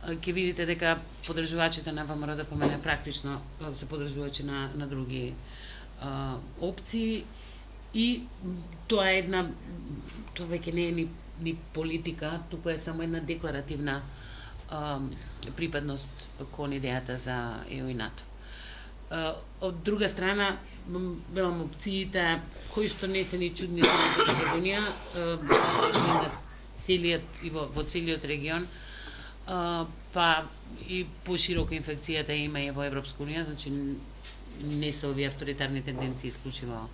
ќе видите дека подржувачите на ВМРО ДПМН практично се подржувачи на други опции и тоа е тоа веќе не е ни политика, туку е само една декларативна припадност кон идејата за ЕУ и НАТО. Од друга страна, велам опциите кои што не се ни чудни за Македонија, во целиот регион, па и поширока инфекцијата има и во Европска унија, значи не се овие авторитарни тенденции исклучиво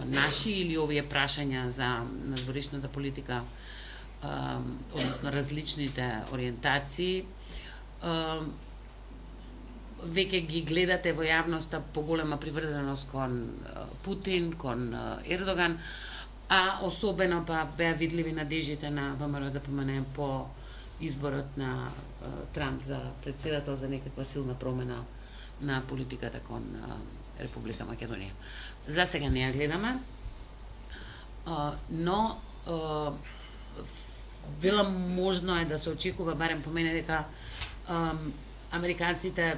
наши или овие прашања за надворешната политика, односно различните ориентации, веќе ги гледате во јавноста поголема приврзаност кон Путин, кон Ердоган, а особено па беа видливи надежите на ВМРО ДПМН по изборот на Трамп за председател за некаква силна промена на политиката кон Република Македонија. За сега не ја гледаме, но велам можно е да се очекува, барем по мене, дека американците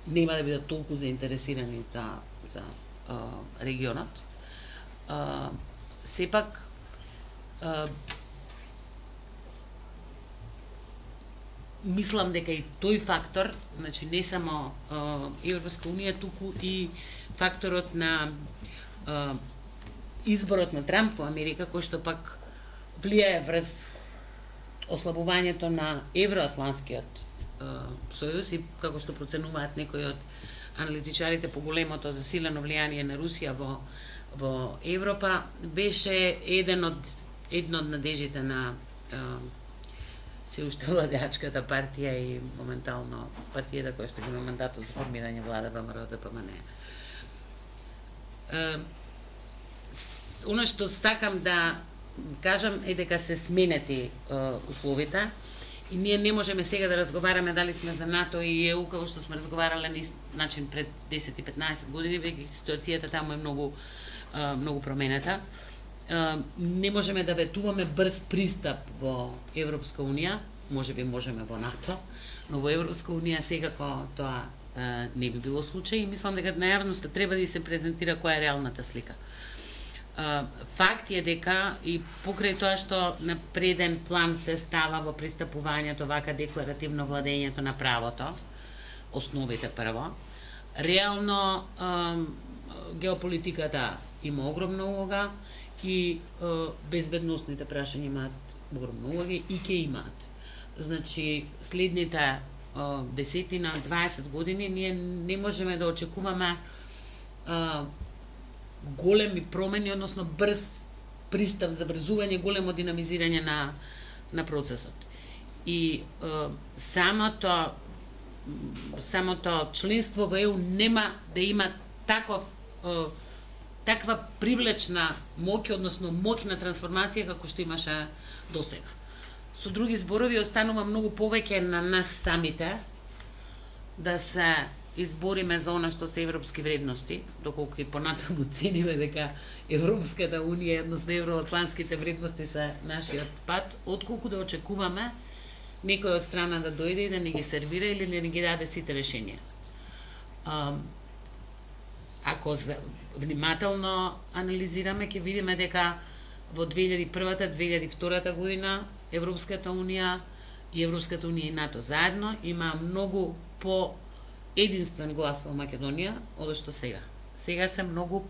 нема да бидат толку заинтересирани за регионот. Сепак мислам дека и тој фактор, значи не само Европска унија, туку и факторот на изборот на Трамп во Америка, кој што пак влијае врз ослабувањето на евроатланскиот сојуз и како што проценуваат некои од аналитичарите по големото засилено влијание на Русија во Европа, беше една од надежите на се уште владеачката партија и моментално партијата која што има мандатот за формирање влада ВМРО ДПМН. Она што сакам да кажам е дека се сменети условите и ние не можеме сега да разговараме дали сме за НАТО и ЕУ како што сме разговарале на начин пред 10 и 15 години, веќе ситуацијата таму е многу променета. Не можеме да ветуваме брз пристап во Европска унија, можеби можеме во НАТО, но во Европска унија секако тоа не би било случај и мислам дека на јавноста треба да се презентира која е реалната слика. Факт е дека и покрај тоа што на преден план се става во пристапувањето вака декларативно владењето на правото, основите прво, реално геополитиката има огромна улога и безбедносните прашања имаат огромна улога и ќе имаат. Значи, следните 10-20 години ние не можеме да очекуваме големи промени, односно брз пристап, забрзување, големо динамизирање на процесот. И самото членство во ЕУ нема да има таква привлечна моќ, односно моќна трансформација како што имаше досега. Со други зборови, останува многу повеќе на нас самите да се избориме за она што се европски вредности, доколку и понатаму цениме дека Европската Унија, односно евроатлантските вредности се нашиот пат, отколку да очекуваме некој од страна да дојде и да ни ги сервира или да ни ги даде сите решенија. Ако внимателно анализираме, ќе видиме дека во 2001-2002 година Европската Унија и Европската Унија и НАТО заедно има многу по единствен глас во Македонија од што сега. Сега се многу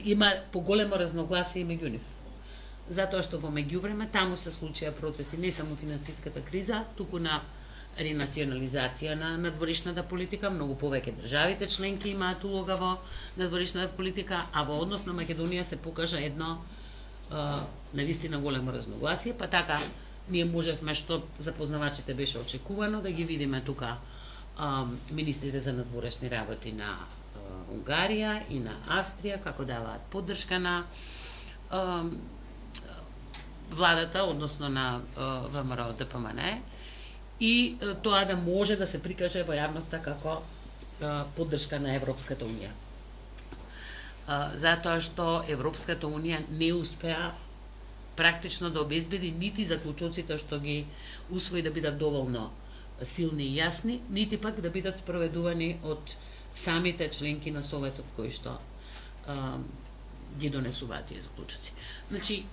има поголемо разногласие меѓу нив. Затоа што во меѓувреме таму се случија процеси не само финансиската криза, туку на ренационализација на надворешната политика, многу повеќе државите членки имаат улога во надворешната политика, а во однос на Македонија се покажа едно навистина големо разногласие, па така ние можевме, што за познавачите беше очекувано, да ги видиме тука министрите за надворешни работи на Унгарија и на Австрија, како даваат поддршка на владата, односно на ВМРО ДПМН, и тоа да може да се прикаже во јавноста како поддршка на Европската Унија. Затоа што Европската Унија не успеа практично да обезбеди нити заклучоците што ги усвои да бидат доволно силни и јасни, нити пак да бидат спроведувани од самите членки на Советот кои што ги донесуваат тие заклучоци. Значи,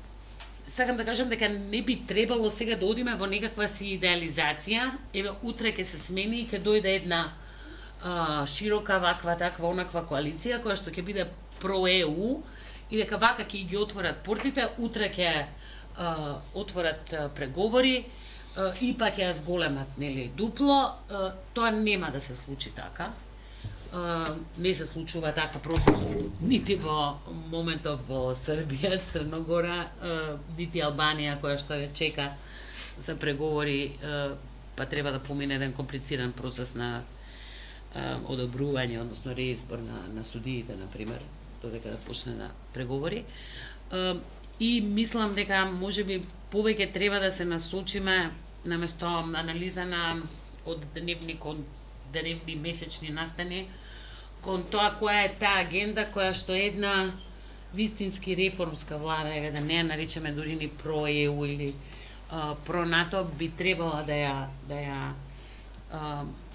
сакам да кажам дека не би требало сега да одиме во некаква си идеализација, еве утре ќе се смени и ќе дојде една широка ваква, таква, онаква коалиција која што ќе биде про-ЕУ и дека вака ќе ги отворат портите, утре ќе отворат преговори и па ќе ја зголемат, нели, дупло. Тоа нема да се случи така. Не се случува така процес нити во моментов во Србија, Црногора, нити Албанија која што ја чека за преговори, па треба да помине еден комплициран процес на одобрување, односно реизбор на судиите, например, додека да почне на преговори. И мислам дека можеби повеќе треба да се насочиме наместо анализа на од дневни месечни настани кон тоа која е таа агенда која што една вистински реформска влада, еве да не ја наричаме дури ни про-ЕУ или про-НАТО, би требала да ја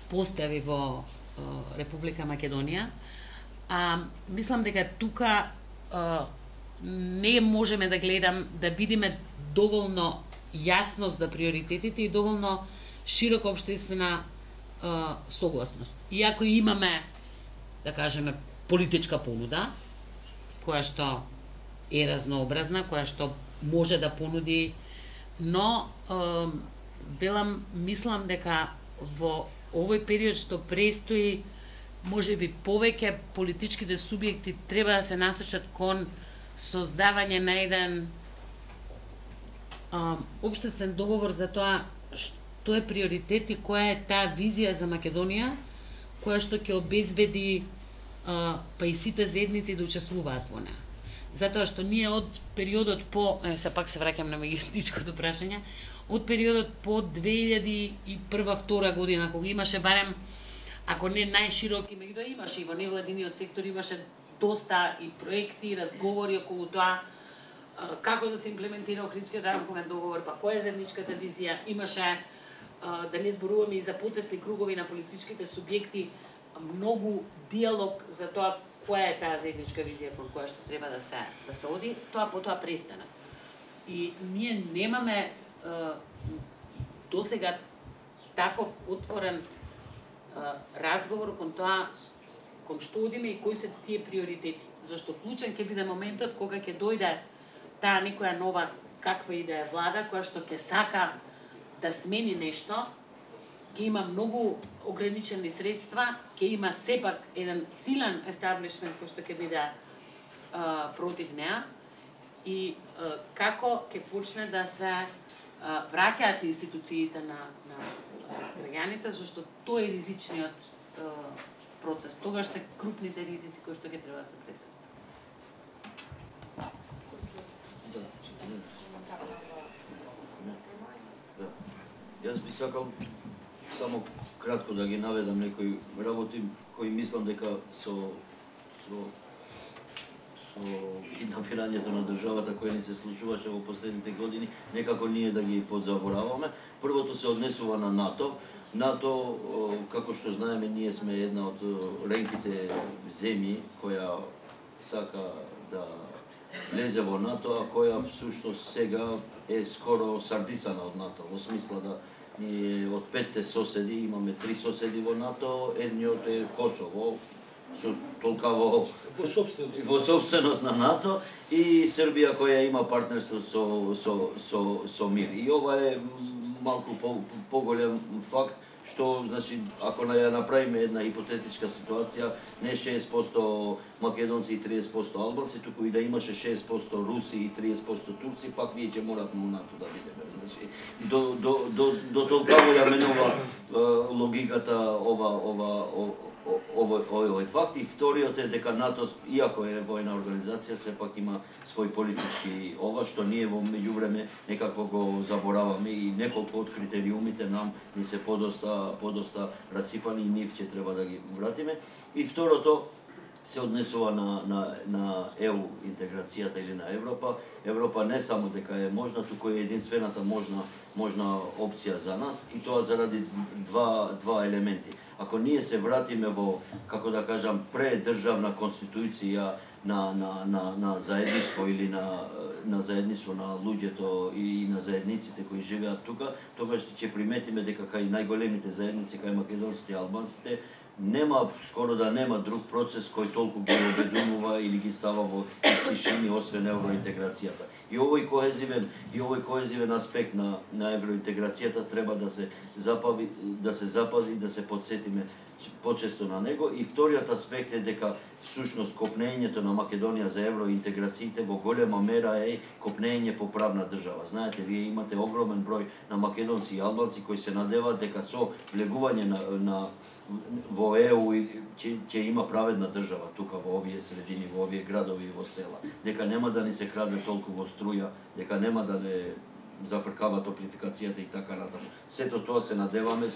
постави во Република Македонија. Мислам дека тука не можеме да да видиме доволно јасност за приоритетите и доволно широка општествена согласност. Иако имаме, да кажеме, политичка понуда, која што е разнообразна, која што може да понуди, но мислам дека во овој период што престои, можеби повеќе политичките субјекти треба да се насочат кон создавање на еден општествен договор за тоа што е приоритет и која е таа визија за Македонија, која што ќе обезбеди па и сите заедници да учествуваат во неа. Затоа што ние од периодот пак се враќам на меѓуетничкото прашање, од периодот по 2001-2002 година, кога имаше барем, ако не најшироки, меѓутоа имаше и во невладиниот сектор, имаше доста и проекти, и разговори околу тоа како да се имплементира Охридскиот рамковен договор, па која е заедничката визија, имаше, да не зборуваме и за потесни кругови на политичките субјекти, многу диалог за тоа која е таа заедничка визија кон која што треба да се оди, тоа потоа престана. И ние немаме досега таков отворен разговор кон тоа кон што одиме и кои се тие приоритети. Зашто клучен ќе биде моментот кога ќе дојде таа некоја нова каква и да е влада која што ќе сака да смени нешто, ќе има многу ограничени средства, ќе има сепак еден силен естаблишмент кој што ќе биде против неа и како ќе почне да се враќаат институциите на граѓаните, зашто тој е ризичниот процес. Тогаш се крупните ризици кои што ќе треба да се пресекат. Јас би сакал само кратко да ги наведам некои работи кои мислам дека со киднапирањето на државата кој ни се случуваше во последните години, некако ние да ги подзабораваме. Првото се однесува на НАТО. НАТО, како што знаеме, ние сме една од ренките земји која сака да влезе во НАТО, а која всушност сега е скоро сардисана од НАТО, во смисла да ние од 5 соседи имаме 3 соседи во НАТО, едниот е Косово, со толкаво во собственост на НАТО, и Србија која има партнерство со МИР. И ова е малку поголем факт, што, значи, ако ја направиме една хипотетичка ситуација, не 6% македонци и 30% албанци, туку и да имаше 6% руси и 30% турци, пак ние ќе моравме у НАТО да бидеме. Значи, до толкаво ја менува логиката овој факт. И вториот е дека НАТО, иако е војна организација, сепак има свој политички што ние во меѓувреме некако го забораваме, и неколку од критериумите нам ни се подоста раципани и нив ќе треба да ги вратиме. И второто се однесува на ЕУ интеграцијата или на Европа. Европа не само дека е можна, туку е единствената можна опција за нас, и тоа заради два елементи. Ако ние се вратиме во, како да кажам, предржавна конституција на заедништво или на заедништво на луѓето и на заедниците кои живеат тука, тогаш ќе приметиме дека кај најголемите заедници, кај македонците и албанците, скоро да нема друг процес кој толку ги обединува или ги става во исти шини освен евроинтеграцијата. И овој коезивен аспект на евроинтеграцијата треба да се запази и да се подсетиме почесто на него. И вториот аспект е дека всушност копнењето на Македонија за евроинтеграциите во голема мера е копнење по правна држава. Знаете, вие имате огромен број на македонци и албанци кои се надеваат дека со влегување во ЕУ ќе има праведна држава тука во овие средини, во овие градови и во села. Дека нема да ни се краде толку во струја, дека нема да не зафркава топлификацијата и така натаму. Сето тоа се надеваме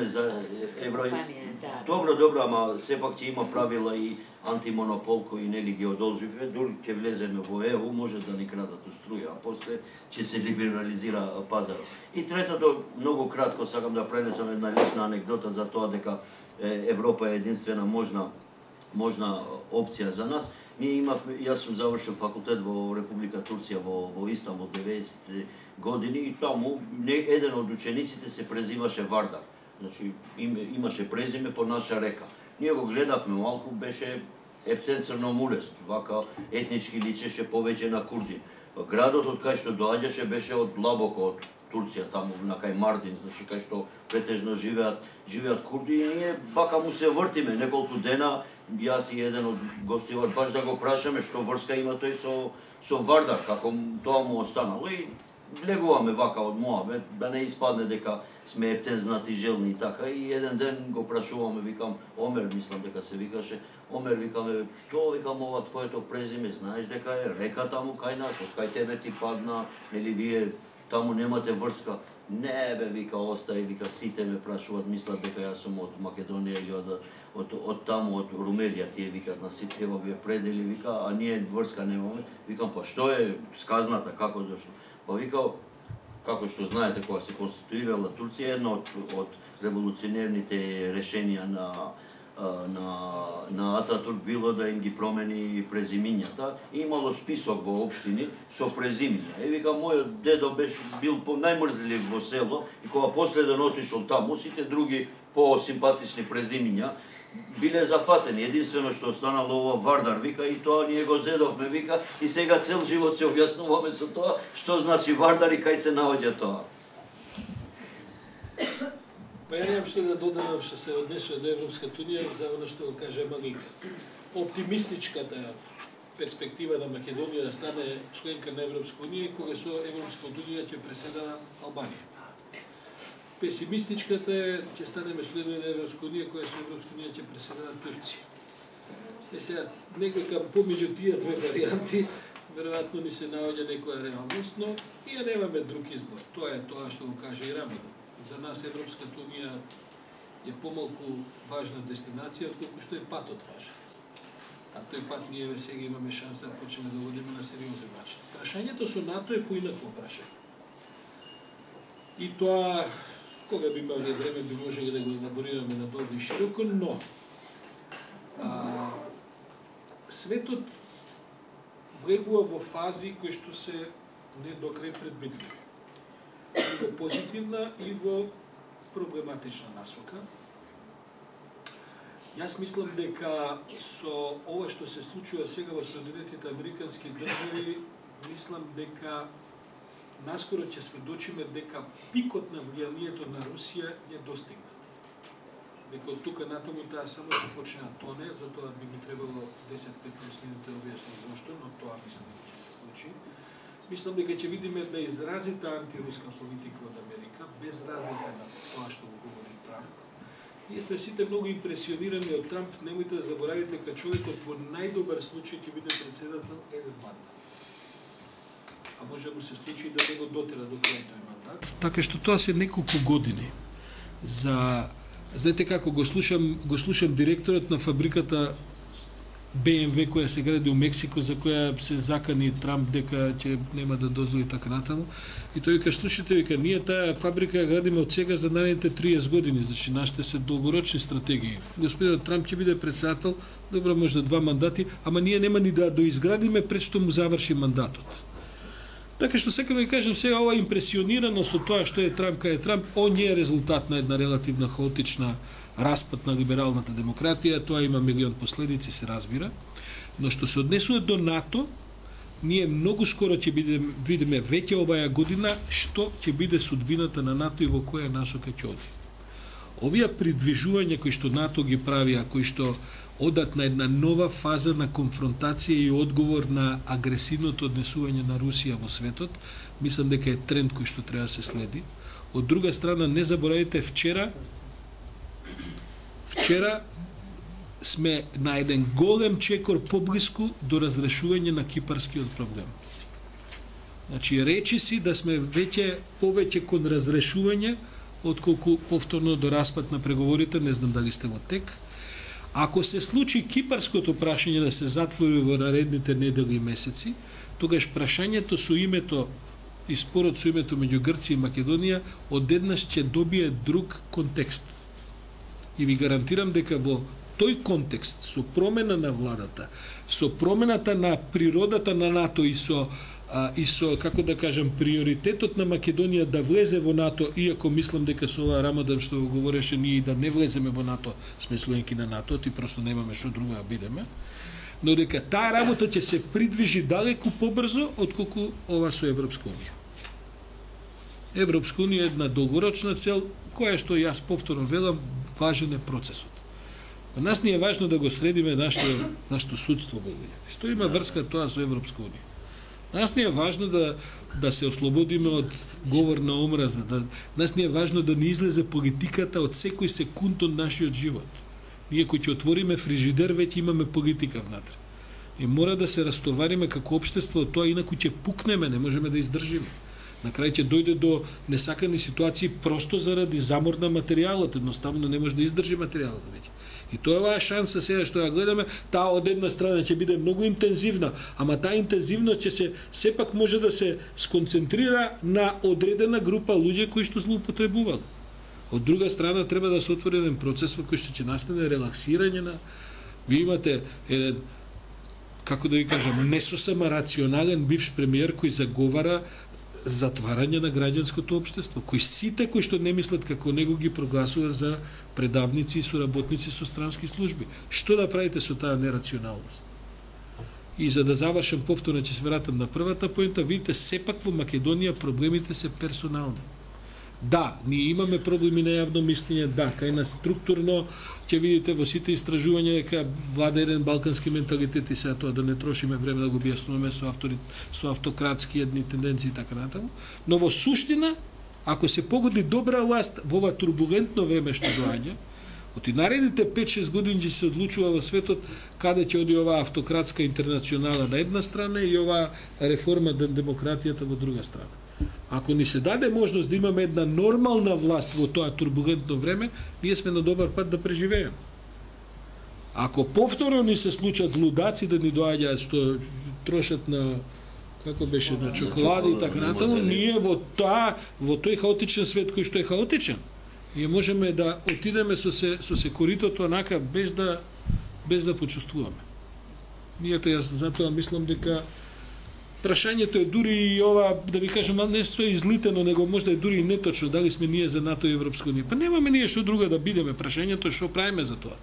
за евро. Добро, ама сепак ќе има правила и антимонопол кои нели ги одолживме, дури ќе влеземе во ЕУ, може да ни крадат струја, а после ќе се либерализира пазарот. И третото, многу кратко сакам да пренесам една лична анекдота за тоа дека Европа е единствена можна опција за нас. Јас сум завршил факултет во Република Турција во Истанбул 90 години, и таму еден од учениците се презиваше Вардар. Значи имаше презиме по наша река. Ние го гледавме малку, беше ептен црномулест, вака етнички личеше повеќе на Курдин. Градот од кај што доаѓаше беше од длабоко од Турција, таму на кај Мардин, значи кај што претежно живеат курди, и ние бака му се вртиме неколку дена, јас и еден од гостивар, баш да го прашаме што врска има тој со Вардар, како тоа му останало, и влегуваме вака од моабет, да не испадне дека сме ептен знатижелни и така. И еден ден го прашуваме, викам, Омер, мислам дека се викаше, Омер, викаме, што, викам, ова твоето презиме, знаеш дека е река таму кај нас, од кај тебе ти падна, или вие таму немате врска? Не бе, вика, остај, вика, сите ме прашуваат, мислат дека јас сум од Македонија или од таму, од Румелија, тие викат на сите овие предели, вика, а ние врска немаме. Викам, па што е сказната, како дошло? Па вика, како што знаете, кога се конституирала Турција, едно од револуционерните решенија на Ататурк било да им ги промени презимињата, и имало список во општини со презимиња. И вика, мојот дедо бил најмрзлив во село, и кога последен отишол таму, сите други по-симпатични презимиња биле зафатени. Единствено што останало ова Вардар, вика, и тоа ние го зедовме, вика, и сега цел живот се објаснуваме со тоа, што значи Вардар и кај се наоѓа тоа. Па ја немам што да додадам што се однесува до Европската унија за она што го каже Малика. Оптимистичката перспектива на Македонија да стане членка на Европска унија и кога со Европска унија ќе преседава Албанија. Песимистичката е ќе станеме членови на Европска унија која со Европска унија ќе преседава Турција. Сега некој помеѓу тие две варијанти веројатно ни се наоѓа некоја реалност, но ние немаме друг избор. Тоа е тоа што го каже и Рамин. За нас Европската унија е помалку важна дестинација отколку што е патот важен. А тој пат ние сега имаме шанса да почнеме да водиме на сериозен начин. Прашањето со НАТО е поинакво прашање. И тоа, кога би имале време, би можеле да го елаборираме надолго и широко, но светот влегува во фази кои што се не до крај предвидливи. И во позитивна и во проблематична насока. Јас мислам дека со ова што се случува сега во Соединетите Американски држави, мислам дека наскоро ќе сведочиме дека пикот на влијанието на Русија е достигнат. Дека од тука натаму таа само ќе почне да тоне, затоа би ми требало 10-15 минути да објаснам зошто, но тоа мислам дека ќе се случи. Мислам дека ќе видиме да изразита антируска политика од Америка, без разлика на тоа што го говори Трамп. Ние сме сите многу импресионирани од Трамп, немојте да заборавите дека човекот во најдобар случај ќе биде председател еден мандат. А може да му се случи да не го дотера до крај тој мандат. Така што тоа се неколку години. Знаете како го слушам директорот на фабриката BMW која се гради у Мексико, за која се закани Трамп дека ќе нема да дозволи така натаму. И тој вика, слушате, вика, ние таа фабрика ја градиме од сега за наредните 30 години, значи нашите се долгорочни стратегии. Господинот Трамп ќе биде председател, добро може да 2 мандати, ама ние нема ни да доизградиме пред што му заврши мандатот. Така што сакам да ви кажам сега ова импресионирано со тоа што е Трамп кај Трамп, он е резултат на една релативно хаотична распад на либералната демократија, тоа има милион последици, се разбира, но што се однесува до НАТО, ние многу скоро ќе видиме веќе оваа година што ќе биде судбината на НАТО и во која насока ќе оди. Овие придвижувања кои што НАТО ги прави, кои што одат на една нова фаза на конфронтација и одговор на агресивното однесување на Русија во светот, мислам дека е тренд кој што треба да се следи. Од друга страна, не заборавите, вчера сме на еден голем чекор поблиску до разрешување на кипарскиот проблем. Значи, речи си да сме повеќе кон разрешување, отколку повторно до распад на преговорите, не знам дали сте во тек. Ако се случи кипарското прашање да се затвори во наредните недели и месеци, тогаш прашањето со името и спорот со името меѓу Грција и Македонија одеднаш ќе добие друг контекст. И ви гарантирам дека во тој контекст, со промена на владата, со промената на природата на НАТО и со како да кажам, приоритетот на Македонија да влезе во НАТО, иако мислам дека со ова Рамадан што го говореше ние и да не влеземе во НАТО, сме членки на НАТО, и просто немаме што друго да бидеме, но дека таа работа ќе се придвижи далеку побрзо отколку ова со Европска унија. Европска унија е една долгорочна цел, која што јас повторно велам, важен е процесот. За нас ни е важно да го средиме нашето судство, што има врска тоа со Европска унија. Нас ни е важно да се ослободиме од говор на омраза, нас ни е важно да ни излезе политиката од секој секунд од нашиот живот. Ние кои ќе отвориме фрижидер, веќе имаме политика внатре. И мора да се растовариме како општество од тоа, инаку ќе пукнеме, не можеме да издржиме. На крај ќе дојде до несакани ситуации просто заради замор на материјалот, едноставно не може да издржи материјалот веќе. И тоа е оваа шанса сега што ја гледаме, таа од една страна ќе биде многу интензивна, ама таа интензивност ќе се сепак може да се сконцентрира на одредена група луѓе кои што злоупотребувале. Од друга страна треба да се отвори еден процес во кој што ќе настане релаксирање на. Ви имате еден, како да ви кажам, не сосема рационален бивш премиер кој заговара затварање на граѓанското општество, кои сите кои што не мислат како него ги прогласува за предавници и соработници со странски служби. Што да правите со таа нерационалност? И за да завршам повторно, ќе се вратам на првата поента, видите, сепак во Македонија проблемите се персонални. Да, ние имаме проблеми на јавно мислење, да, кај нас структурно ќе видите во сите истражувања дека влада еден балкански менталитет и сега тоа да не трошиме време да го објаснуваме со автократски едни тенденции и така натаму, но во суштина ако се погоди добра власт во ова турбулентно време што доаѓа, од наредните 5-6 години ќе се одлучува во светот каде ќе оди оваа автократска интернационала на една страна и оваа реформа на демократијата во друга страна. Ако ни се даде можност да имаме една нормална власт во тоа турбулентно време, ние сме на добар пат да преживееме. Ако повторно ни се случат лудаци да ни доаѓаат што трошат на како беше на чоколади и така натаму, ние во тој хаотичен свет кој што е хаотичен, ние можеме да отидеме со се коритото онака без да почувствуваме. Ние јас затоа мислам дека прашањето е дури и ова, да ви кажам, не е излитено, него можда е дури и неточно, дали сме ние за НАТО и Европска унија. Па немаме ние што друго да бидеме, прашањето е што правиме за тоа.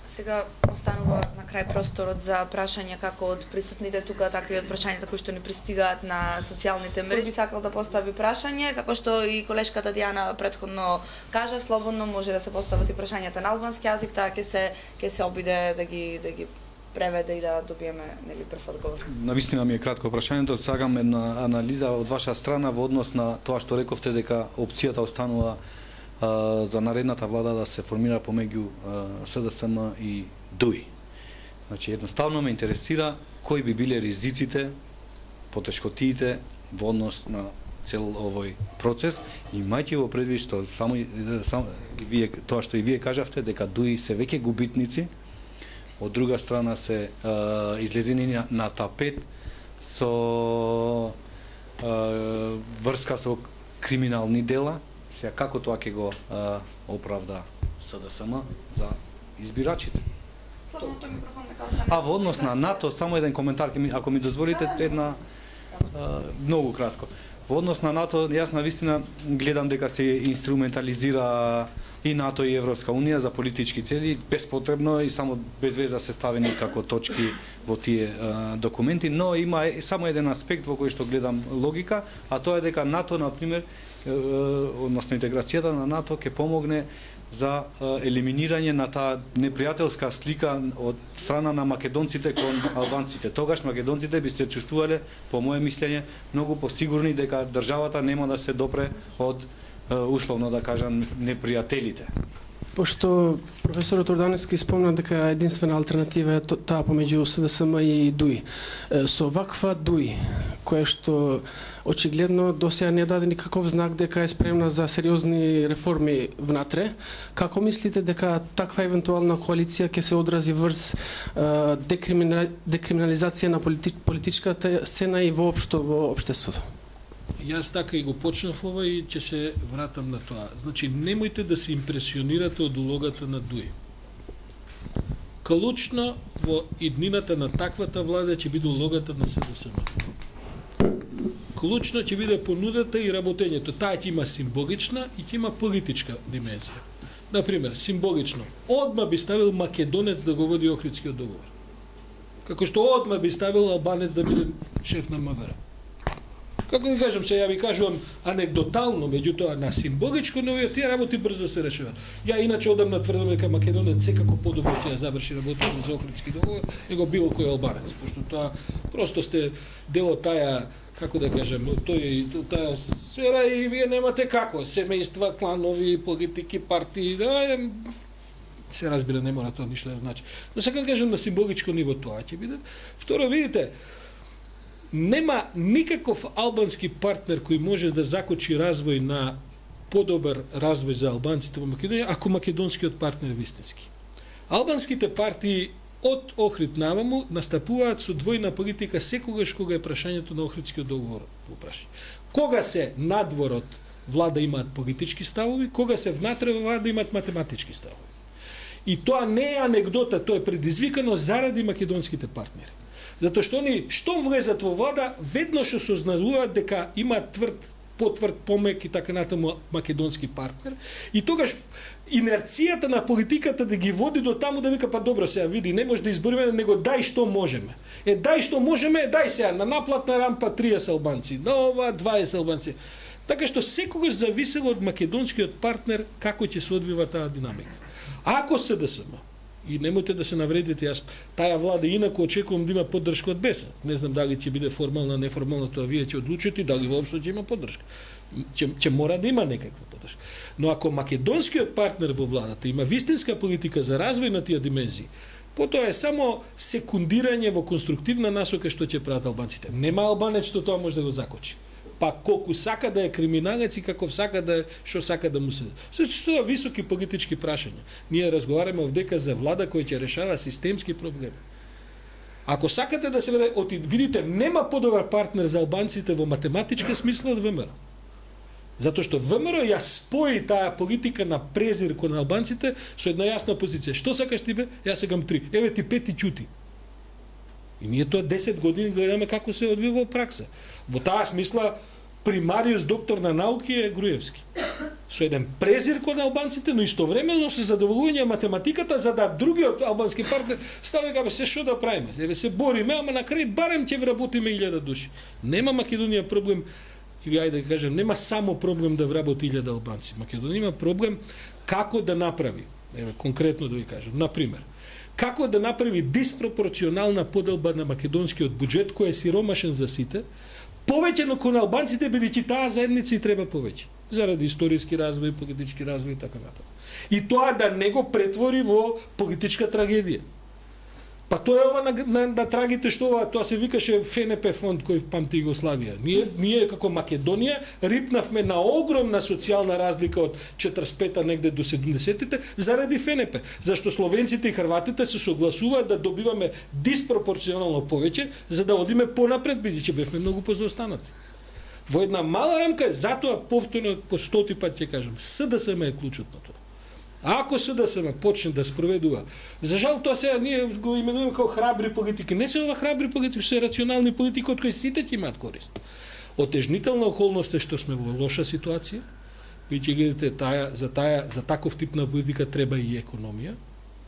Сега останува на крај просторот за прашања како од присутните тука, така и од прашањата кои што ни пристигаат на социјалните мрежи. Сакал да постави прашање, како што и колешката Дијана претходно кажа, слободно може да се постават и прашањата на албански јазик, таа ќе се обиде да ги преведе и да добиеме нели брз одговор. Навистина ми е кратко прашањето, сакам една анализа од ваша страна во однос на тоа што рековте дека опцијата останува за наредната влада да се формира помеѓу СДСМ и ДУИ. Значи едноставно ме интересира кои би биле ризиците, потешкотиите во однос на цел овој процес, имајќи во предвид што само вие тоа што и вие кажавте дека ДУИ се веќе губитници, од друга страна се излезени на тапет со врска со криминални дела. Сега како тоа ќе го оправда СДСМ за избирачите? Слободното микрофон нека остане. А во однос на НАТО, само еден коментар, ако ми дозволите, една многу кратко. Во однос на НАТО, јас навистина гледам дека се инструментализира и НАТО и Европска унија за политички цели, безпотребно и само без веза се ставени како точки во тие документи, но има само еден аспект во кој што гледам логика, а тоа е дека НАТО, например, односно интеграцијата на НАТО ќе помогне за елиминирање на таа непријателска слика од страна на македонците кон албанците. Тогаш македонците би се чувствувале, по моје мислење, многу посигурни дека државата нема да се допре од условно да кажам непријателите. Пошто професорот Орданевски спомна дека единствена алтернатива е таа помеѓу СДСМ и ДУИ. Со ваква ДУИ, која што очигледно досега не даде никаков знак дека е спремна за сериозни реформи внатре, како мислите дека таква евентуална коалиција ќе се одрази врз декриминализација на политичката сцена и воопшто во општеството? Јас така и го почнав ова и ќе се вратам на тоа. Значи, немојте да се импресионирате од улогата на ДУИ. Клучно во иднината на таквата влада ќе биде улогата на СДСМ. Клучно ќе биде понудата и работењето. Таа ќе има символична и ќе има политичка димензија. Например, символично, одма би ставил македонец да го води Охридскиот договор. Како што одма би ставил албанец да биде шеф на МВР. Како ви кажам, се ја ви кажувам анекдотално, меѓутоа на символичко ниво тие работи брзо се решаваат. Ја иначе одамна тврдам дека македонец секако подобро ќе ја заврши работата за Охридски договор него било кој албанец, пошто тоа просто сте дел од таа, како да кажам, таа сфера и вие немате како, семејства, кланови, политики, партии, да се разбира, не мора тоа ништо да значи. Но сакам да кажам на символичко ниво тоа ќе биде. Второ, видите, нема никаков албански партнер кој може да закочи развој на подобар развој за албанците во Македонија, ако македонскиот партнер е вистински. Албанските партии од Охрид наваму настапуваат со двојна политика секогаш кога е прашањето на Охридскиот договор во прашање. Кога се надворот влада имаат политички ставови, кога се внатре влада имаат математички ставови. И тоа не е анегдота, тоа е предизвикано заради македонските партнери. Затоа што они штом влезат во влада, веднаш осознаваат дека имаат потврд, помек и така натаму македонски партнер. И тогаш инерцијата на политиката да ги води до таму да вика па добро сега види, не може да избориме, него дај што можеме. дај што можеме, дај сега на наплатна рампа 30 албанци, на ова 20 албанци. Така што секогаш зависело од македонскиот партнер како ќе се одвива таа динамика. Ако СДСМ, и немојте да се навредите, јас таа влада инаку очекувам да има поддршка од БЕСА. Не знам дали ќе биде формална, неформална, тоа вие ќе одлучите и дали воопшто ќе има поддршка. Ќе мора да има некаква поддршка. Но ако македонскиот партнер во владата има вистинска политика за развој на тие димензии, потоа е само секундирање во конструктивна насока што ќе прават албанците. Нема албанец што тоа може да го закочи. Па колку сака да е криминалец и каков сака да е, што сака да му се. Тоа високи политички прашања. Ние разговараме овдека за влада која ќе решава системски проблеми. Ако сакате да се видите, нема подобар партнер за албанците во математичка смисла од ВМРО. Затоа што ВМРО ја спои таа политика на презир кон албанците со една јасна позиција. Што сакаш ти бе? Јас сакам 3. Еве ти 5 и ќути. И ние тоа 10 години гледаме како се одвива во пракса. Во таа смисла примариус доктор на науки е Груевски. Со еден презир кон албанците, но истовремено се задоволување математиката за да другиот албански партнер стави кај се што да правиме. Еве се бориме, ама на крај барем ќе вработиме 1000 души. Нема Македонија проблем, или ајде да кажем, нема само проблем да вработи 1000 албанци. Македонија има проблем како да направи. Еве конкретно да ви кажам, на пример, како да направи диспропорционална поделба на македонскиот буџет кој е сиромашен за сите, повеќе кон албанците бидејќи таа заедница и треба повеќе заради историски развој, политички развој и така натаму. И тоа да не го претвори во политичка трагедија. Па тоа е ова на трагите што ова, тоа се викаше ФНП фонд кој памти Југославија. Ние како Македонија рипнавме на огромна социјална разлика од 45-та негде до 70-тите заради ФНП. Зашто словенците и хрватите се согласуваат да добиваме диспропорционално повеќе за да одиме понапред, бидејќи бевме многу позаостанати. Во една мала рамка, затоа повторно по 100 пат ќе кажам, СДСМ е клучот на тоа. Ако СДСМ почне да спроведува, за жал тоа сега ние го именуваме како храбри политики. Не се ова храбри политики, се рационални политики од кои сите ќе имаат корист. Отежнителна околност е што сме во лоша ситуација, бидејќи гледате за таков тип на политика треба и економија.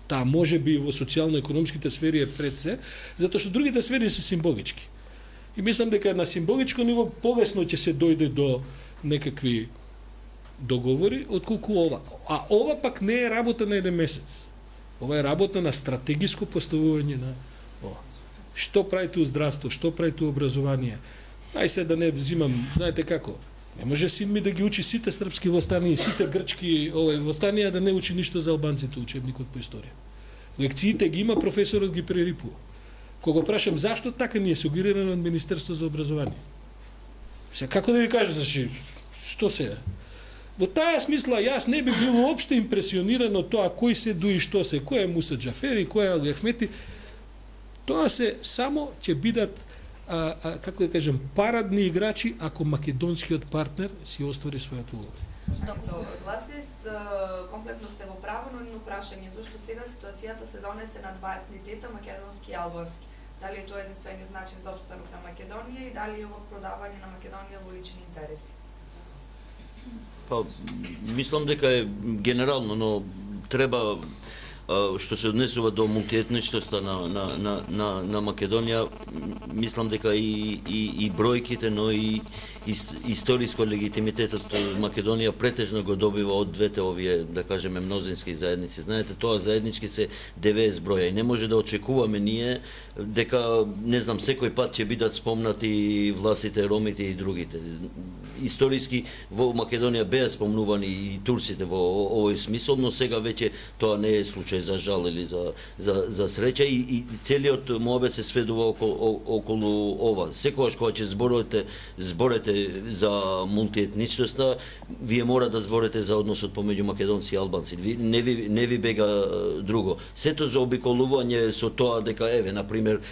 Таа може би во социјално-економските сфери е пред се, затоа што другите сфери се символички. И мислам дека на символичко ниво полесно ќе се дојде до некакви договори, отколку ова. А ова пак не е работа на еден месец. Ова е работа на стратегиско поставување на ова. Што правите у здравство, што правите у образование. Ај се да не взимам, знаете како, не може син ми да ги учи сите српски востании, сите грчки востанија, да не учи ништо за албанците учебникот по историја. Лекциите ги има, професорот ги прерипува. Кога прашам зашто така не е сугерирано од Министерство за образование. Се како да ви кажа, значи, што се е? Во таа смисла јас не би бил уопште импресиониран од тоа кој се дуи што се, кој е Муса Џафери, кој е Али Ахмети. Тоа се само ќе бидат како да кажем парадни играчи ако македонскиот партнер си оствари својата улога. Гласис, комплетно сте во право, но едно прашање, зашто сега ситуацијата се донесе на два етнитета, македонски и албански? Дали е тоа единствениот начин за опстанок на Македонија и дали е ова продавање на Македонија во лични интереси? Па, мислам дека е генерално, но треба што се однесува до мултиетничноста на Македонија, мислам дека и бројките, но и историско легитимитетот Македонија претежно го добива од двете овие, да кажеме, мнозински заедници. Знаете, тоа заеднички се 90 броја и не може да очекуваме ние дека, не знам, секој пат ќе бидат спомнати власите, ромите и другите. Историски во Македонија беа спомнувани и турците во овој смисол, но сега веќе тоа не е случај, за жал или за среќа, и целиот моабет се сведува околу ова. Секогаш кога ќе зборете за мултиетничноста, вие мора да зборете за односот помеѓу македонци и албанци. Не ви бега друго. Сето за обиколување со тоа дека, еве, например,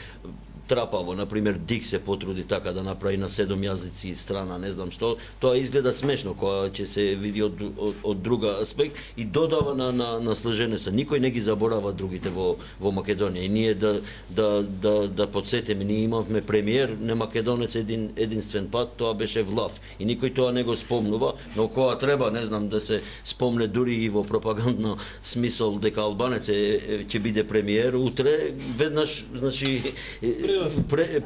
трапаво, например, Дик се потруди така да направи на 7 јазици страна, не знам што, тоа изгледа смешно кога ќе се види од друга аспект и додава на сложеноста. Никој не ги заборава другите во Македонија. И ние да подсетиме, ние имавме премиер на македонец единствен пат, тоа беше Влав. И никој тоа не го спомнува, но кога треба, не знам, да се спомне дури и во пропагандно смисол дека албанец ќе биде премиер, утре веднаш, значи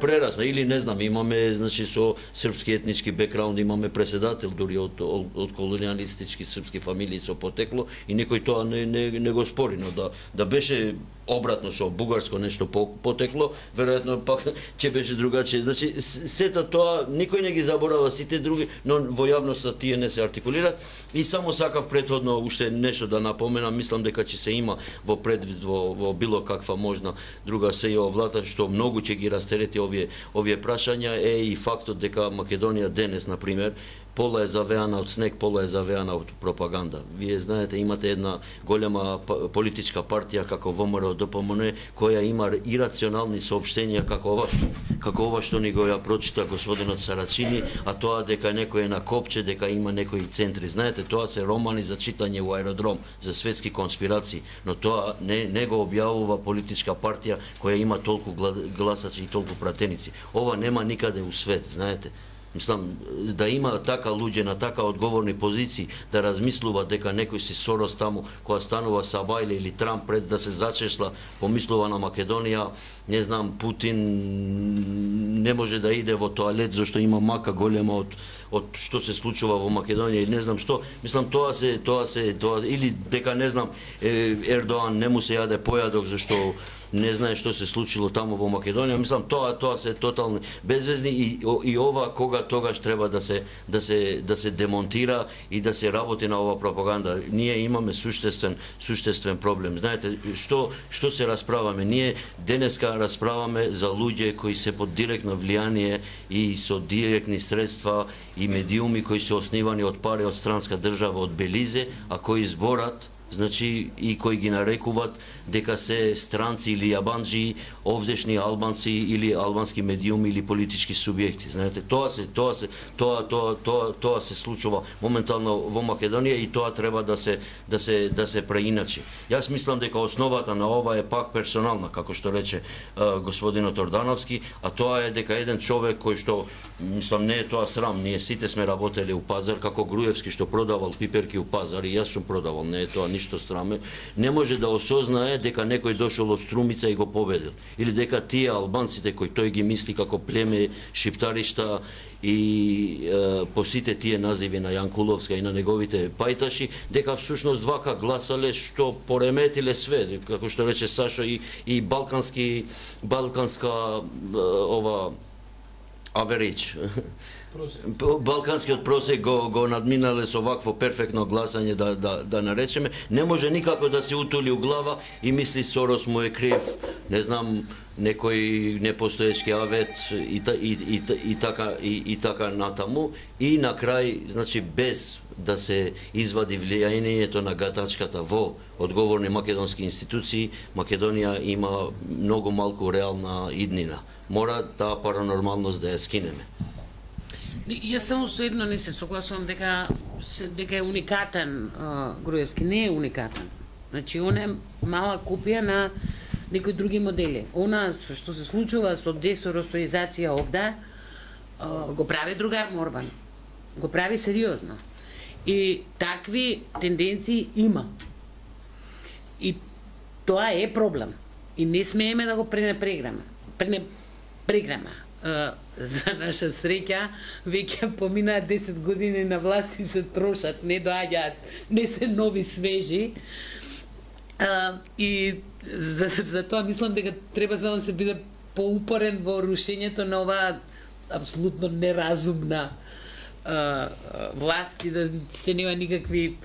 прерасна или не знам, имаме значи со српски етнички бекграунд, имаме преседател дури од колониалистички српски фамилии со потекло и никој тоа не го спори, но да беше обратно со бугарско нешто потекло, веројатно пак ќе беше другачие. Значи сета тоа никој не ги заборава сите други, но во јавноста тие не се артикулираат и само сакав претходно уште нешто да напоменам, мислам дека ќе се има во предвид во било каква можна друга сејова влада што многу ќе ги растерети овие прашања е и фактот дека Македонија денес на пример пола е завеана од снег, пола е завеана од пропаганда. Вие знаете, имате една голема политичка партија како ВМРО ДПМН која има ирационални соопштенија како ова што ни го ја прочита господинот Сарачини, а тоа дека некој е на копче, дека има некои центри. Знаете, тоа се романи за читање во аеродром за светски конспирации, но тоа не го објавува политичка партија која има толку гласачи и толку пратеници. Ова нема никаде у свет, знаете. Мислам, да има така луѓе на така одговорни позиции да размислува дека некој си Сорос таму која станува Сабајле или Трамп пред да се зачешла, помислува на Македонија, не знам, Путин не може да иде во тоалет зашто има мака голема од што се случува во Македонија или не знам што. Мислам, тоа или дека не знам Ердоан не му се јаде појадок зашто не знае што се случило таму во Македонија. Мислам, тоа се тотални безвезни и ова кога тогаш треба да се демонтира и да се работи на ова пропаганда. Ние имаме суштествен проблем. Знаете, што се расправаме? Ние денеска расправаме за луѓе кои се под директно влијание и со директни средства и медиуми кои се основани од пари од странска држава, од Белизе, а кои зборат, значи и кои ги нарекуваат дека се странци или јабанџи, овдешни албанци или албански медиуми или политички субјекти. Знаете, тоа се случува моментално во Македонија и тоа треба да се преиначи. Јас мислам дека основата на ова е пак персонална, како што рече господинот Ордановски, а тоа е дека еден човек кој што, мислам, не е тоа срам, ние сите сме работеле у пазар, како Груевски што продавал пиперки у пазар и јас сум продавал, не е тоа ништо сраме, не може да осознае дека некој дошол од Струмица и го победил. Или дека тие албанците кои тој ги мисли како племе шиптаришта и по сите тие називи на Јанкуловска и на неговите пајташи, дека всушност вака гласале што пореметиле све, како што рече Сашо, и балканска ова аверидж. Балканскиот просек го надминале со вакво перфектно гласање да наречеме. Не може никако да се утули у глава и мисли Сорос му е крив, не знам, некој непостоечки авет и така натаму. И на крај, значи, без да се извади влијанието на гатачката во одговорни македонски институции, Македонија има многу малку реална иднина. Мора таа паранормалност да ја скинеме. Јас само со едно не се согласувам дека е уникатен Груевски. Не е уникатен. Значи, он е мала копија на некои други модели. Она што се случува со десоросоизација овде, го прави другар Морбан. Го прави сериозно. И такви тенденции има. И тоа е проблем. И не смееме да го пренепреграме. За наша среќа, веќе поминаат 10 години на власт и се трошат, не доаѓаат, не се нови свежи. И за тоа мислам дека треба само да се биде поупорен во рушењето на оваа апсолутно неразумна власт и да се нема никакви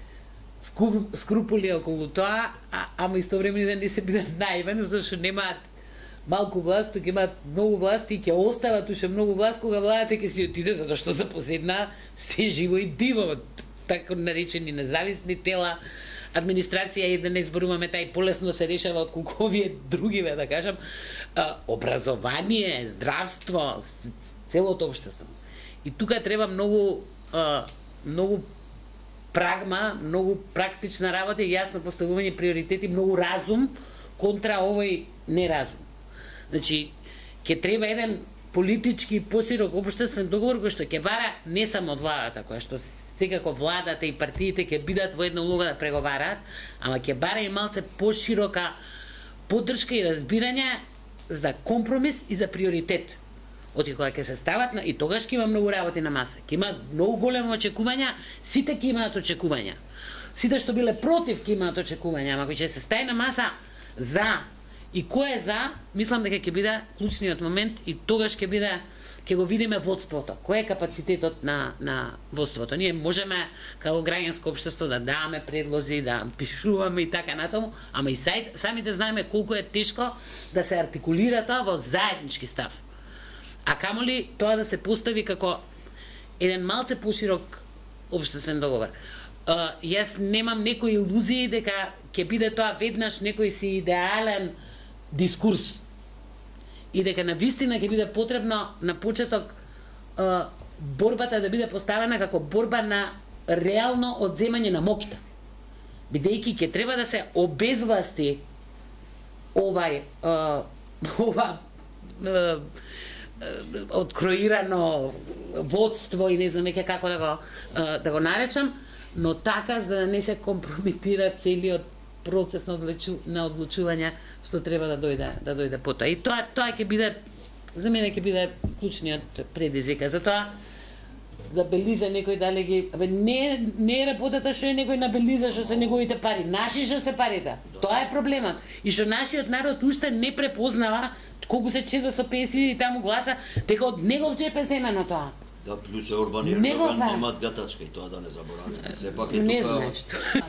скрупули околу тоа, ама истовремено да не се биде наивен, зашто немаат малку власт, тука имаат многу власт и ќе остават уште многу власт кога владата ќе си отиде, затоа што за последна се живо и диво, така наречени независни тела, администрација и да не зборуваме тај полесно се решава отколку овие другиве, да кажам, образование, здравство, целото општество. И тука треба многу прагма, многу практична работа и јасно поставување приоритети, многу разум контра овој неразум. Значи, ќе треба еден политички посирок општествен договор кој што ќе бара не само од владата, која што секако владата и партиите ќе бидат во една улога да преговараат, ама ќе бара и малце поширока поддршка и разбирање за компромис и за приоритет. Оти кога ќе се стават и тогаш ќе има многу работи на маса. Ќе има многу големи очекувања, сите ќе имаат очекувања. Сите што биле против ќе имаат очекувања, ама кој ќе се стаи на маса за и кој е за, мислам дека ќе биде клучниот момент и тогаш ќе го видиме водството. Кој е капацитетот на водството? Ние можеме како граѓанско општество да даваме предлози, да пишуваме и така натаму, ама и самите знаеме колку е тешко да се артикулира тоа во заеднички став. А камоли тоа да се постави како еден малце поширок општествен договор. Јас немам некои илузии дека ќе биде тоа веднаш некој си идеален дискурс и дека навистина ќе биде потребно на почеток борбата да биде поставена како борба на реално одземање на моќта. Бидејќи ќе треба да се обезвласти ова откроирано водство и не знам веќе како да го наречам, но така за да не се компрометира целиот процес на одлучување што треба да дојде потоа. И тоа ќе биде, за мене ќе биде клучниот предизвик. Затоа да Белиза некој дали ги... Не е работата што е некој на Белиза што се неговите пари. Наши што се парите. Тоа е проблемот. И што нашиот народ уште не препознава колку се 450 и таму гласа, дека од негов џеп е земено тоа. Да, плюс Орбан и Ердоган немаат гатачка и тоа да не забораваме. Сепак е не тука... знаеш.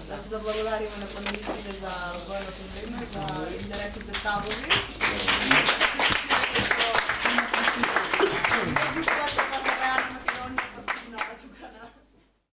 Да се заблагодариме на панелистите за одвоеното време, за интересните ставови.